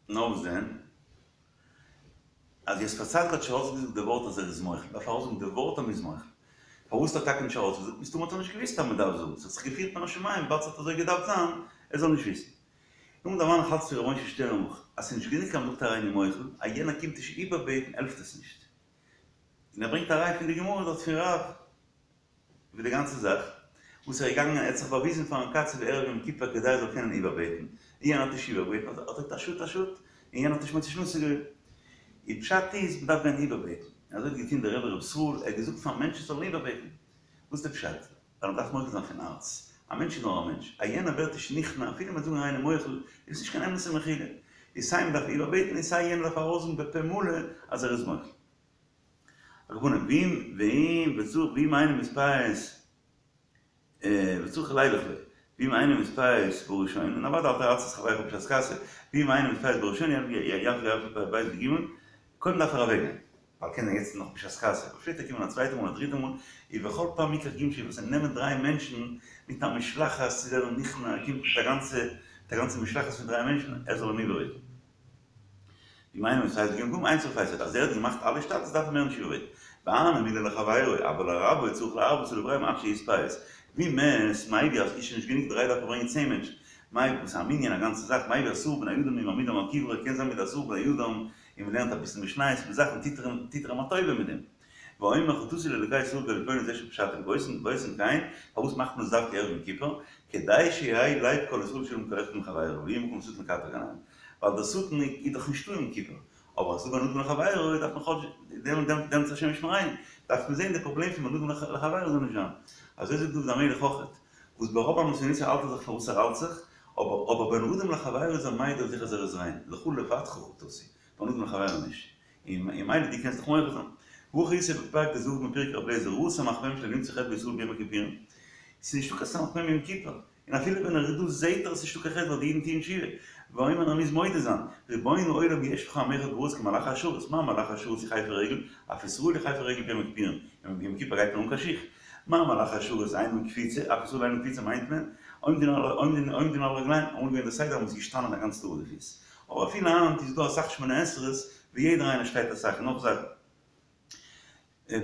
נאר וואס דען? אז יוסף הצדיק האט נישט ארויסגעזאגט די ווארט אז ער איז מוחל, דארף ער ארויסזאגן די ווארט אז מ'איז מוחל. פארוואס האט ער טאקע נישט ארויסגעזאגט? מסתמא האט ער נישט געוואוסט אז מ'דארף זאגן, ס'האט זיך געפירט מן השמים וויבאלד ס'האט אזוי געדארפט זיין, ער זאל נישט וויסן. נאכדעם דערמאן איך אלץ פון ר' משה שטערנבוך אז ס'איז נישט גענוג אז מ'זאגט הריני מוחל, אז יענער קומט נישט איבערבעטן העלפט עס נישט. און ער ברענגט א ראי' פון די גמרא דארט פון רב. איבער די גאנצע זאך, וואס ער איז געגאנגען, ער האט זיך באוויזן פארן קצב ערב יום כיפור כדי ער זאל קענען איבערבעטן, און יענער האט נישט איבערגעבעטן, האט ער געזאגט א שאד א שאד, און יענער האט נישט מוציא שנתו געווען. און פשט איז, מען דארף גיין איבערבעטן. און אזוי האט געטון דער רבי ר' ישראל, ער האט געזאגט פאר מענטשן זאלן איבערבעטן. וואס איז די פשט? ווייל מען דארף מוחל זיין פון הארץ. א מענטש איז נאר א מענטש. אז יענער ווערט נישט נכנע, אפילו מען וועט זאגן הריני מוחל, איז עס נישט קיין אמת'ע מחילה. איז סיי מ'דארף איבערבעטן און סיי יענער דארף ארויסזאגן בפה מלא אז ער איז מוחל. על כל פנים, ואם ואם וצריך ואם אינו מתפייס וצריך לילך לו, ואם אינו מתפייס בראשונה, און אוודאי אל תרצה את חברך בשעת כעסו, ואם אינו מתפייס בראשונה ירחיק ב' וג', קודם דארף ער אוועקגיין, ווייל קען זיין יעצט איז נאך בשעת כעסו, אבער שפעטער קומען א צווייטע מאל א דריטע מאל, ובכל פעם יקח ג' שבעות, נעמען דריי מענטשן מיט א משלחת צו ווערן נכנע, ער קומט מיט א גאנצע מיט א גאנצע משלחת פון דריי מענטשן ער זאל אים איבערבעטן. ואם אינו מתפייס בג' פעמים אין צריך לפייסו, אז ער האט געמאכט אלע השתדלות דארף ער מער נישט איבערבעטן. והני מילי לחבירו, אבל לרבו צריך להרבות עליו רבים עד שיתפייס. ואם מת, מביא אז איז שוין נישט גענוג דריי דארף ער ברענגען צען מענטשן. מביא וואס איז א מנין א גאנצע זאך, מביא עשרה בני אדם ומעמידם על קברו קען זיין מיט די עשרה בני אדם און מען לערנט אביסל משניות מיט זאכן טוט ער אים טוט ער אים א טובה מיט דעם. ואומר חטאתי לאלוקי ישראל בגוי פלוני זה שפשעתי ועושין ועושין כן, פארוואס מאכט מען עס דווקא ערב יום כיפור? כדי שיהא לב כל ישראל שלם כל אחד עם חברו ויהא מקום לשטן לקטרג עליהם. ווייל דער שטן איז דאך נישטא יום כיפור, אבער אז ס'דא בין אדם לחבירו דארף מען כאטש דעם דעם דעם השם ישמרינו, דארף מען זען די פראבלעם פון בין אדם לחבירו זאל נישט זיין. אזוי זאגט דוד המלך אויכעט, וואס ברוב עם עשו האלט ער זיך פאר וואס ער האלט זיך, אבער אבער בין אדם לחבירו איז ער מעיד אויף זיך אז ער איז ריין, לך לבדך חטאתי, בין אדם לחבירו נישט. און ממילא דו קענסט דיך מוחל זיין. והכי איתא בפרק ט"ו מפרקי רבי אליעזר ראה סמ"ך מ"ם שלא נמצא חטא בישראל ביום הכיפורים. ס'איז נישטא קיין סמ"ך מ"ם יום כיפור. און אפילו ווען ער איז דא זעהט ער אז ס'נישטא קיין חטא ווייל די אידן טוען תשובה. ואומר ער מוז מודה זיין, רבון העולם יש בך עם אחד בארץ כמלאכי השרת, מה מלאכי השרת יחפו רגל, אף ישראל יחפו רגל ביום הכיפורים, יום כיפור גייט מען אן קיין שיך. מה מלאכי השרת אינם קפיצה, אף ישראל אינם קפיצה מיינט מען, עומדין על רגליהם, אמאל געווען די סדר אז מ'איז געשטאנען א גאנץ טאג אויף די פיס. אבער אפילו היינט איז דא אסאך שמונה עשרה'ס ווי יעדער איינער שטייט אסאך און נאך זאכן.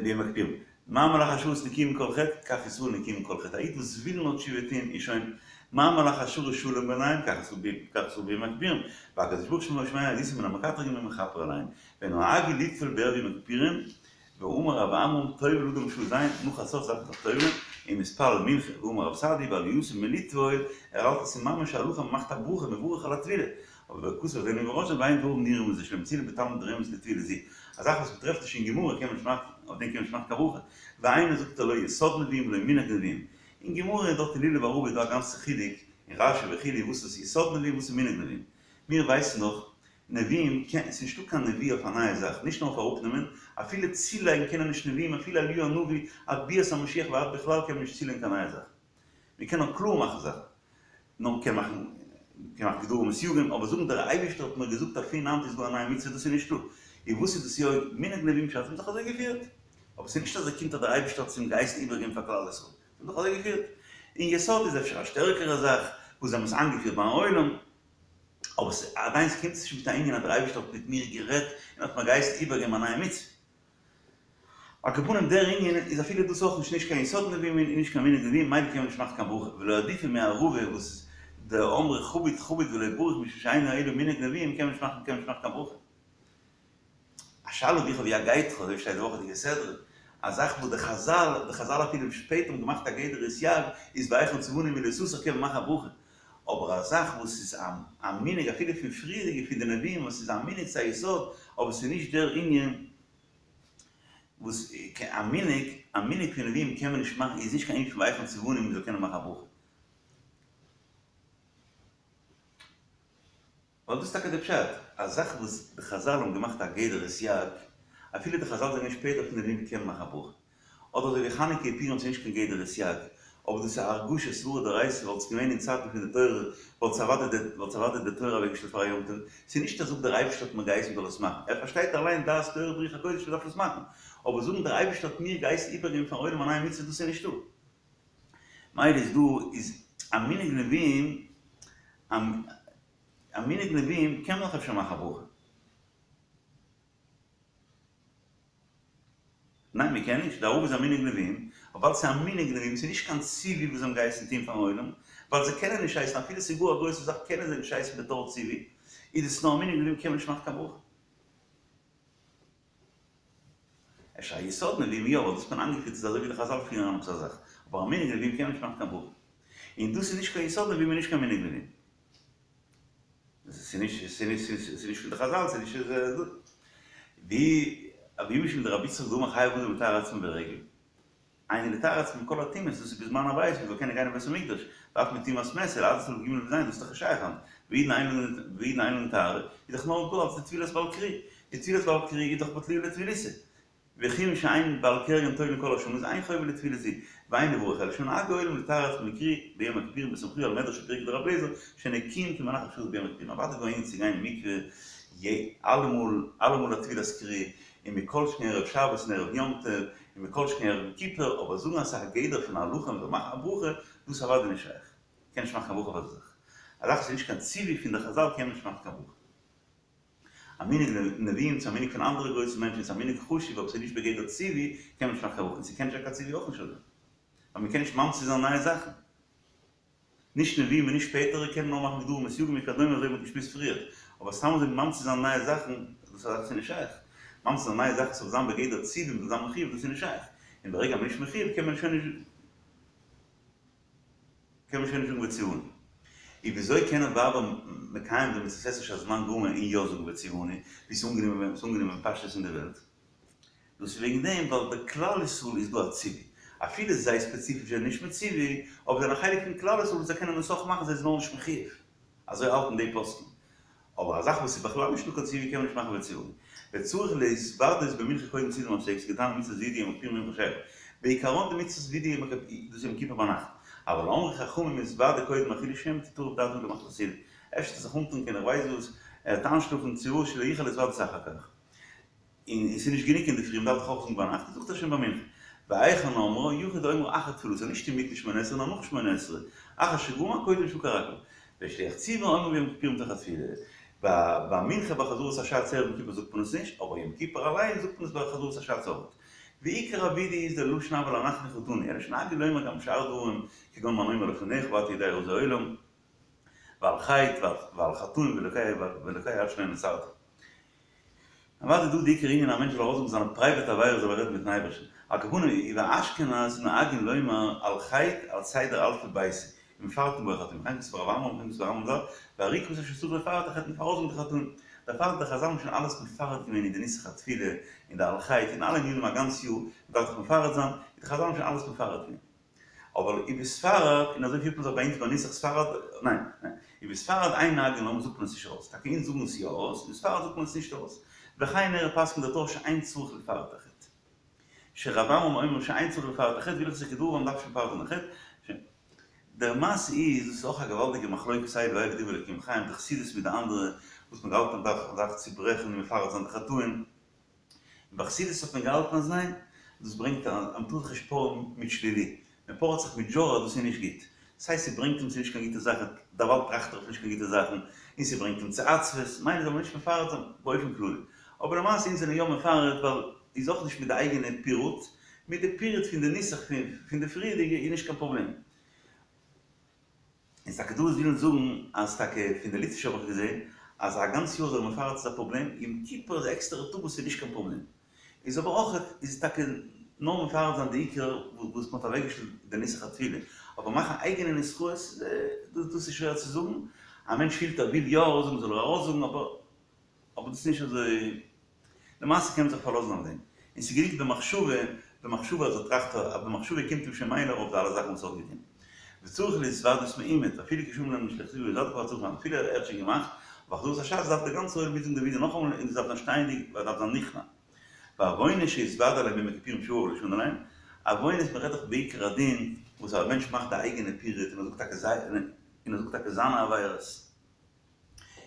ביום הכיפורים. מה מלאכי השרת נקיים מכל חטא, כך ישראל נקיים מכל חטא. א איד וואס וויל נאר תשובה טוהן איז שוין מה מלאכי השרת שלום ביניהם, כך ישראל ביום הכיפורים. והקדוש ברוך הוא שומע עדותם מן המקטרגים ומכפר עליהם. ונהגו לטבול בערב יום הכיפורים, ואמר רב עמרם טובל אדם בשעה ז', נאך חצות דארף מען זיך טובל'ען, ומתפלל מנחה, ואמר רב סעדי' בעלייתו מלטבול, ער האלט עס איז ממש א הלכה מ'מאכט א ברכה מברך על הטבילה, אבער וכתב רבינו מרוז'ין ואין דברים נראים מזה שלא מצינו בתלמוד רמז לטבילה זו, א זאך וואס מ'טרעפט נישט אין גמרא קען מען נישט מאכן, אויף דעם קען מען נישט מאכן קיין ברכה, והיינו זאגט ער לא יסוד נביאים ולא מנהג נביאים, אין גמרא דארט אין לולב וערבה איז דא א גאנצע חילוק אין רשי וכו' וואס איז יסוד נביאים וואס איז מנהג נביאים, מיר ווייסן דאך נביאים קען, ס'איז נישטא קיין נביא אויף א נייע זאך, נישט נאר אויף אראפנעמען, אפילו צולייגן קענען נישט נביאים, אפילו אליהו הנביא עד ביאת המשיח ועד בכלל קען מען נישט צולייגן קיין נייע זאך. מען קען נאר קלאר מאכן זאכן, נאר מען קען מאכן, מען קען מאכן גדרים וסייגים, אבער זאגן דער אייבערשטער האט מיר געזאגט אז פון היינט איז דא א נייע מצוה דאס איז נישטא. און וואס איז דאס יא מנהג נביאים שאת, האבן זיך אזוי געפירט. אבער ס'איז נישט אז ער קומט אז דער אייבערשטער האט עס אים געהייסן איבערגעבן פאר כלל ישראל. זיי האבן זיך אזוי געפירט. און יסוד איז אפשר א שטערקערע זאך וואס זיי האבן עס איינגעפירט ביים עולם. אבער ס'עדיין ס'קומט נישט מיט א ענין אז דער אייבערשטער האט מיט מיר גערעדט און האט מיר געהייסן איבערגעבן א נייע מצוה. על כל פנים דער ענין איז אפילו דאס אויך נישט נישט קיין יסוד נביאים און נישט קיין מנהג נביאים ממילא קען מען נישט מאכן קיין ברכה ולא עדיפא מערבה וואס איז דאמרי חביט חביט ולא בריך משום שאינו אלא מנהג נביאים קען מען נישט מאכן קען מען נישט מאכן קיין ברכה. א שאלה ווי איך האב יגעתך אזוי שטייט די וואכעדיגע סדרה א זאך וואס די חזל די חזל אפילו שפעטער האבן געמאכט א גדר וסייג איז והיכן צונו מלא תסור קען מען מאכן א ברכה אבער א זאך וואס איז א מנהג אפילו פון פריערדיגע פון די נביאים וואס איז א מנהג ס'איז א יסוד אבער ס'איז נישט דער ענין וואס א מנהג א מנהג פון נביאים קען מען נישט מאכן איז נישט קיין ענין פון והיכן צונו מ'זאל קענען מאכן א ברכה. ווייל דאס איז טאקע די פשט, א זאך וואס די חזל האבן געמאכט א גדר וסייג, אפילו די חזל זענען שפעטער פון די נביאים קען מען מאכן א ברכה. אדער אזוי ווי חנוכה און פורים ס'איז נישט קיין גדר וסייג, אבער דאס איז א הרגשה סברא דאורייתא וואלט עס געווען אין צייטן פון די תורה וואלט עס אוודאי די וואלט עס אוודאי די תורה אוועקגעשטעלט פאר א יום טוב, ס'איז נישט אז זאגט דער אייבערשטער האט מיר געהייסן מ'זאל עס מאכן, ער פארשטייט אליין דעת תורה ברוח הקודש מ'דארף עס מאכן, אבער זאגן דער אייבערשטער האט מיר געהייסן איבערגעבן פארן עולם א נייע מצוה דאס איז נישטא. מילא איז דא איז א מנהג נביאים א מנהג נביאים קען מען דאך אפשר מאכן א ברכה. ניין מען קען נישט, די ערבה איז א מנהג נביאים, אבער ווייל ס'איז א מנהג נביאים, ס'איז נישט קיין ציווי וואס זיי האבן געהייסן טון פארן עולם, ווייל זיי קענען נישט הייסן, אפילו ס'איז גאר א גרויסע זאך קענען זיי נישט הייסן בתור ציווי, איז עס נאר א מנהג נביאים קען מען נישט מאכן קיין ברכה. אפשר א יסוד נביאים יא, ווייל דאס האט מען איינגעפירט איז אזוי ווי די חזל פירן אן עפעס א זאך, אבער א מנהג נביאים קען מען נישט מאכן קיין ברכה. און דאס איז נישט קיין יסוד נביאים און נישט קיין מנהג נביאים. ס'איז נישט ס'איז נישט פון די חזל ס'איז נישט ואי משום דרבי יצחק דאמר חייב אדם לטהר עצמו ברגל היינו לטהר עצמו מכל הטומאות דאס איז בזמן הבית מ'זאל קענען גיין אין בית המקדש ואף מטומאת מת להזות עליו ג' וז' דאס איז דאך נישט שייך היינט. והאידנא אין לן טהרה, איז דאך נאר דא אלס די טבילת בעל קרי, די טבילת בעל קרי איז דאך בטלוהו לטבילתא. וכיון שאין בעל קריין טובלין כל השנה איז אין חובה לטבילה זו, ואין לברך אלא שנהגו העולם לטהר עצמם מקרי ביום הכיפורים בסמכוהו על מדרש ופרקי דרבי אליעזר שנקיים כמלאך השרת ביום הכיפורים אוודאי איז דא ענין צו גיין אין מקווה אלעמאל אלעמאל א טבילת קרי און מכל שכן ערב שבת און ערב יום טוב און מכל שכן ערב יום כיפור אבער זאגן אז ס'איז א גדר פון הלכה מ'זאל מאכן א ברכה דאס איז אוודאי נישט שייך מ'קען נישט מאכן קיין ברכה אויף אזא זאך א זאך וואס איז נישט קיין ציווי פון די חזל קען מען נישט מאכן קיין ברכה. א מנהג נביאים צו א מנהג פון אנדערע גרויסע מענטשן איז א מנהג חשוב אבער ס'איז נישט בגדר ציווי קען מען נישט מאכן קיין ברכה און ס'קען נישט זיין קיין ציווי אויך נישט אזוי ווייל מ'קען נישט ממציא זיין נייע זאכן נישט נביאים און נישט שפעטערע קענען נאר מאכן גדרים וסייגים וכדומה אזוי ווי מ'האט געשמועסט פריער אבער סתם אזוי ממציא זיין נייע זאכן דאס איז א זאך וואס איז נישט שייך ממציא זיין נייע זאכן ס'זאל זיין בגדר ציווי מ'זאל זיין מחיוב דאס איז נישט שייך און ברגע מ'איז נישט מחיוב קען מען שוין נישט קען מען שוין נישט זאגן וציוונו. און וויאזוי קענען ווייבער מקיים זיין מצות עשה שהזמן גרמא און יא זאגן וציוונו, ווי ס'איז אנגענומען ס'איז אנגענומען בפשטות אין די וועלט? דאס איז וועגן דעם ווייל ביי כלל ישראל איז דא א ציווי, אפילו זיי ספעציפיש זענען נישט מצווה, אבער זענען א חלק פון כלל ישראל וואס זיי קענען עס אויך מאכן זיי זענען נאר נישט מחיוב. אזוי האלטן די פוסקים. אבער א זאך וואס איז בכלל נישטא קיין ציווי קען מען נישט מאכן וציוונו. וצריך להתוודות במנחה קודם סעודה המפסקת כדתניא מצות וידוי יום הכיפורים ביום חשכה. בעיקרון די מצות וידוי יום הכיפור דאס איז יום כיפור ביינאכט. אבל אמרו חכמים יתוודה קודם אפילו שמא תטרף דעתו למחרת הסעודה. אפשר וועט ער זיך אנטרינקען איך ווייס וואס, ער וועט איינשלאפן צו וואס שלא יוכל להתוודות אחר כך. און עס איז נישט גענוג אינדערפרי, מ'דארף דאך אויך זאגן ביינאכט, זאגט ער שוין ביי מנחה. והיכן אומרה, יחיד האומרה אחר תפילתו, נישט אינמיטן שמונה עשרה נאר נאך שמונה עשרה, אחר שגמר קודם שכרע רגליו. ושליח ציבור אומר ביום כיפורים תוך התפילה. ביי מנחה ביי חזרת הש"ץ ערב יום כיפור זאגט מען עס נישט, אבער יום כיפור אליין זאגט מען עס ביי חזרת הש"ץ אויך. ועיקר הווידוי איז דער לשון אבל אנחנו חטאנו, אלא שנהגו לומר גם שאר דברים, כגון מה נאמר לפניך ואתה יודע רזי עולם, ועל חטא ועל חטאים ואלוקי עד שלא נוצרתי. אוודאי דא די עיקר ענין א מענטש זאל ארויסזאגן זיינע פרייוועט עבירות זאל ער רעדן מיטן אייבערשטן. על כל פנים ובאשכנז נוהגין לומר על חטא על סדר אלפי ביתי ומפרטין בו החטאים וכן כתב הרב עמרם וכן כתב הרמב"ם ז"ל והאר"י כתב שצריך לפרט החטא מ'דארף ארויסזאגן די חטאים. דערפאר האט די חזל שוין אלעס מפרט געווען אין די נוסח התפילה אין די על חטא אין אלע ענינים א גאנץ יאר מ'דארף דאך מפרט זיין די חזל האבן שוין אלעס מפרט געווען. אבער ובספרד, און אזוי פירט מען זיך ביי אונז ביי נוסח ספרד, ניין, ניין, ובספרד אין נוהגין לומר זאגט מען עס נישט ארויס, טאקע אונז זאגן עס יא ארויס, אין ספרד זאגט מען עס נישט ארויס, וכן נראה פסק'נט דער טור שאין צריך לפרט החטא. שרב עמרם אומר שאין צריך לפרט החטא והלכתא כדבריו מ'דארף נישט מפרט זיין די חטא. דער מעשה איז, דאס איז אויך א געוואלדיגע מחלוקת אלו ואלו דברי אלוקים חיים, די חסידות מיט די אנדערע, וואס מ'האט געהאלטן אז מ'דארף צוברעכן און מפרט זיין די חטאים, ביי חסידות האט מען געהאלטן אז ניין, דאס ברענגט א, אז מ'טאר זיך נישט פארען מיט שלילי, מען פארעט זיך מיט דזשארא דאס איז נישט גוט, סיי ס'ברענגט אים צו נישט קיין גוטע זאכן, דערווייל טראכט ער אויף נישט קיין גוטע זאכן, און ס'ברענגט אים צו עצבות, מילא זאל מען נישט מפרט זיין באופן כללי. אבער למעשה אונז זענען יא מפרט ווייל איז אויך נישט מיט די אייגענע פירוט, מיט די פירוט פון די נוסח פון די פריערדיגע איז נישט קיין פראבלעם. איז טאקע דא וואס ווילן זאגן אז טאקע פון די ליטווישע האב איך געזען אז א גאנץ יאר זיך מפרט איז א פראבלעם, יום כיפור איז א עקסטערע טאג וואס איז נישט קיין פראבלעם. איז אבער אויך איז טאקע נאר מפרט זיין די עיקר וואס מען האט אוועקגעשטעלט די נוסח התפילה, אבער מאכן אייגענע נוסחאות דאס איז שווער צו זאגן, א מענטש פילט ער וויל יא ארויסזאגן זאל ער ארויסזאגן אבער אבער דאס איז נישט אזוי, למעשה קען מען זיך פארלאזן אויף דעם, און ס'איז גענוג במחשבה, במחשבה אז ער טראכט אז במחשבה קומט אים שוין מילא ארויף די אלע זאכן וואס ער האט געטון. וצריך להתוודות מעומד, אפילו כשאמר להם שליח ציבור התוודו כבר צריך זיין, אפילו ער האט שוין געמאכט, אבער חזרת הש"ץ דארף דער גאנצער עולם מיטזאגן די וידוי נאכאמאל און דאס דארף זיין שטייענדיג ווייל דארף זיין נכנע. ועוונות שהתוודה עליהם ביום הכיפורים שעבר ולא שנה עליהם, עוונות מען רעדט דאך בעיקר הדין וואס א מענטש מאכט די אייגענע פירוט און ער זאגט טאקע זיי און ער זאגט טאקע זיינע עבירות.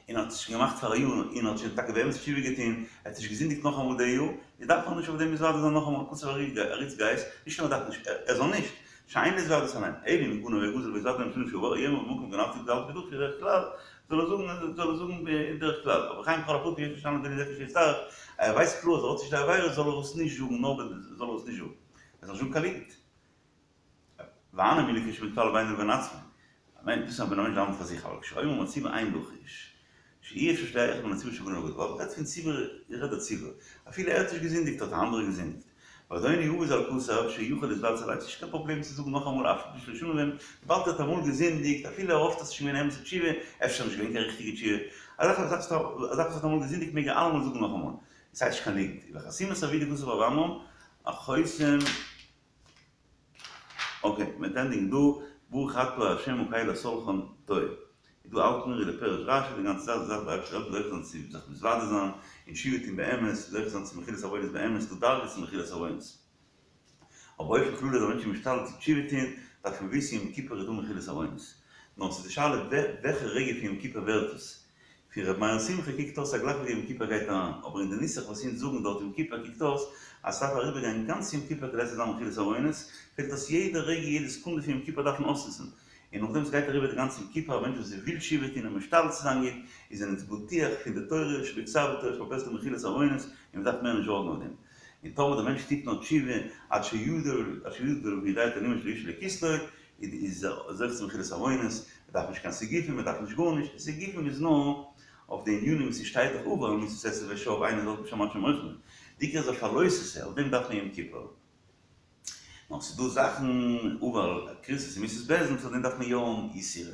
און האט עס שוין געמאכט פאר א יאר און האט שוין טאקע באמת תשובה געטון, ער האט נישט געזינדיגט נאכאמאל די יאר, איז דארף ער נישט אויף דעם מתוודה זיין נאכאמאל, כתב הרי"ץ גייס, נישט נאר ער דארף נישט, ער זאל נישט, שאין להתוודות עליהם, אלא אם גנב וגזל והתוודה עליהם בשנה שעברה, יאמר במקום גנבתי גזלתי ודרכתי בדרך כלל, זאל ער זאגן זאל ער זאגן בדרך כלל, אבער וכן בכל הפרטים יש לשנות דין זה כשיצטרך, ער ווייסט קלאר אז ער האט נישט די עבירה זאל ער עס נישט זאגן נאר זאל ער עס נישט זאגן, ער זאל נישט זאגן קיין ליגנט. והני מילי כשמתפלל בינו לבין עצמו, דאס איז ווען א מענטש דאווענט פאר זיך, אבל כשאומר בציבור אין לחוש, שאי אפשר שיהא אחד מן הציבור שגנב וגזל, ווייל מ'רעדט פון ציבור, איך רעד דער ציבור, אפילו ער האט נישט געזינדיגט האט א אנדערער געזינדיגט, ואדוני הוא ז"ל כתב שיכול להתוודות עליהם, ס'נישט קיין פראבלעם צו זאגן נאכאמאל אף על פי שלא שנה בהם, וויבאלד ער האט אמאל געזינדיגט, אפילו ער האפט אז ס'איז שוין געווען אמת'ע תשובה, אפשר נישט געווען קיין ריכטיגע תשובה, א זאך וואס האט אמאל געזינדיגט מעג ער אלעמאל זאגן נאכאמאל, עס הייסט נישט קיין ליגנט, ובחתימת הווידוי כתב רב עמרם, החותם. אקעי, מ'וועט ענדיגן דא, ברוך אתה ה' הקל הסלחן טוב. איז דא האלטן מיר ווי דער פירוש רשי די גאנצע זאך דארף דער אייבערשטער העלפן זוכה זיין צו זיך מתוודה זיין און תשובה טון באמת, זוכה זיין צו מחילת עוונות באמת, ס'דא דרגות אין מחילת עוונות. אבער באופן כללי אז א מענטש איז משתדל צו תשובה טון, דארף מען וויסן יום כיפור איז דא מחילת עוונות. נאר ס'איז די שאלה וועלכע רגע פון יום כיפור ווערט עס. פון ר' מאיר שמחה קוקט אויס אז גלייך ווי יום כיפור גייט אריין, אבער אין די נוסח וואס אונז זאגן דארט יום כיפור קוקט אויס אז ס'דארף אריבערגיין גאנץ יום כיפור כדי ס'זאל זיין מחילת עוונות, פעלט אויס יעדע רגע יעדע סעקונדע פון יום כיפור דארף מען אויסנוצן. און נאכדעם ס'גייט אריבער די גאנצע יום כיפור א מענטש וואס וויל תשובה טון און משתדל צו זיין גוט, איז אונז בטוח פון די תורה שבכתב ותורה שבעל פה ס'דא מחילת עוונות און מ'דארף מער נישט זארגן אויף דעם. און טאמער דער מענטש טוט נאר תשובה עד שידע עד שידע ויודע את אלקים שלא ישאו לכסלו, איז ער זוכה צו מחילת עוונות, מ'דארף נישט קיין סיגופים, מ'דארף נישט גארנישט, סיגופים איז נאר אויף די ענינים וואס ס'שטייט דאך עבר על מצות עשה ושב איינער זאל נישט האבן קיין מוחלת, די עיקר איז אויף א לא תעשה, אויף דעם דארף מען יום כיפור. נאר ס'איז דא זאכן עבר על כריתות ומיתות בית דין וואס אויף דעם דארף מען יא האבן יסורים,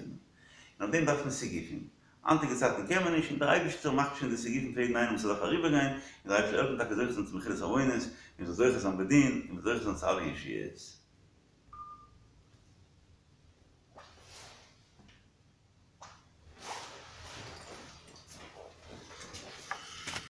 און אויף דעם דארף מען סיגופים. היינטיגע צייטן קען מען נישט, און דער אייבערשטער מאכט שוין די סיגופים פאר יעדן איינעם וואס ס'דארף אריבערגיין, און דער אייבערשטער העלפן טאקע זוכה זיין צו מחילת עוונות, און מ'זאל זוכה זיין בדין, און מ'זאל זוכה זיין צו אלע ישועות.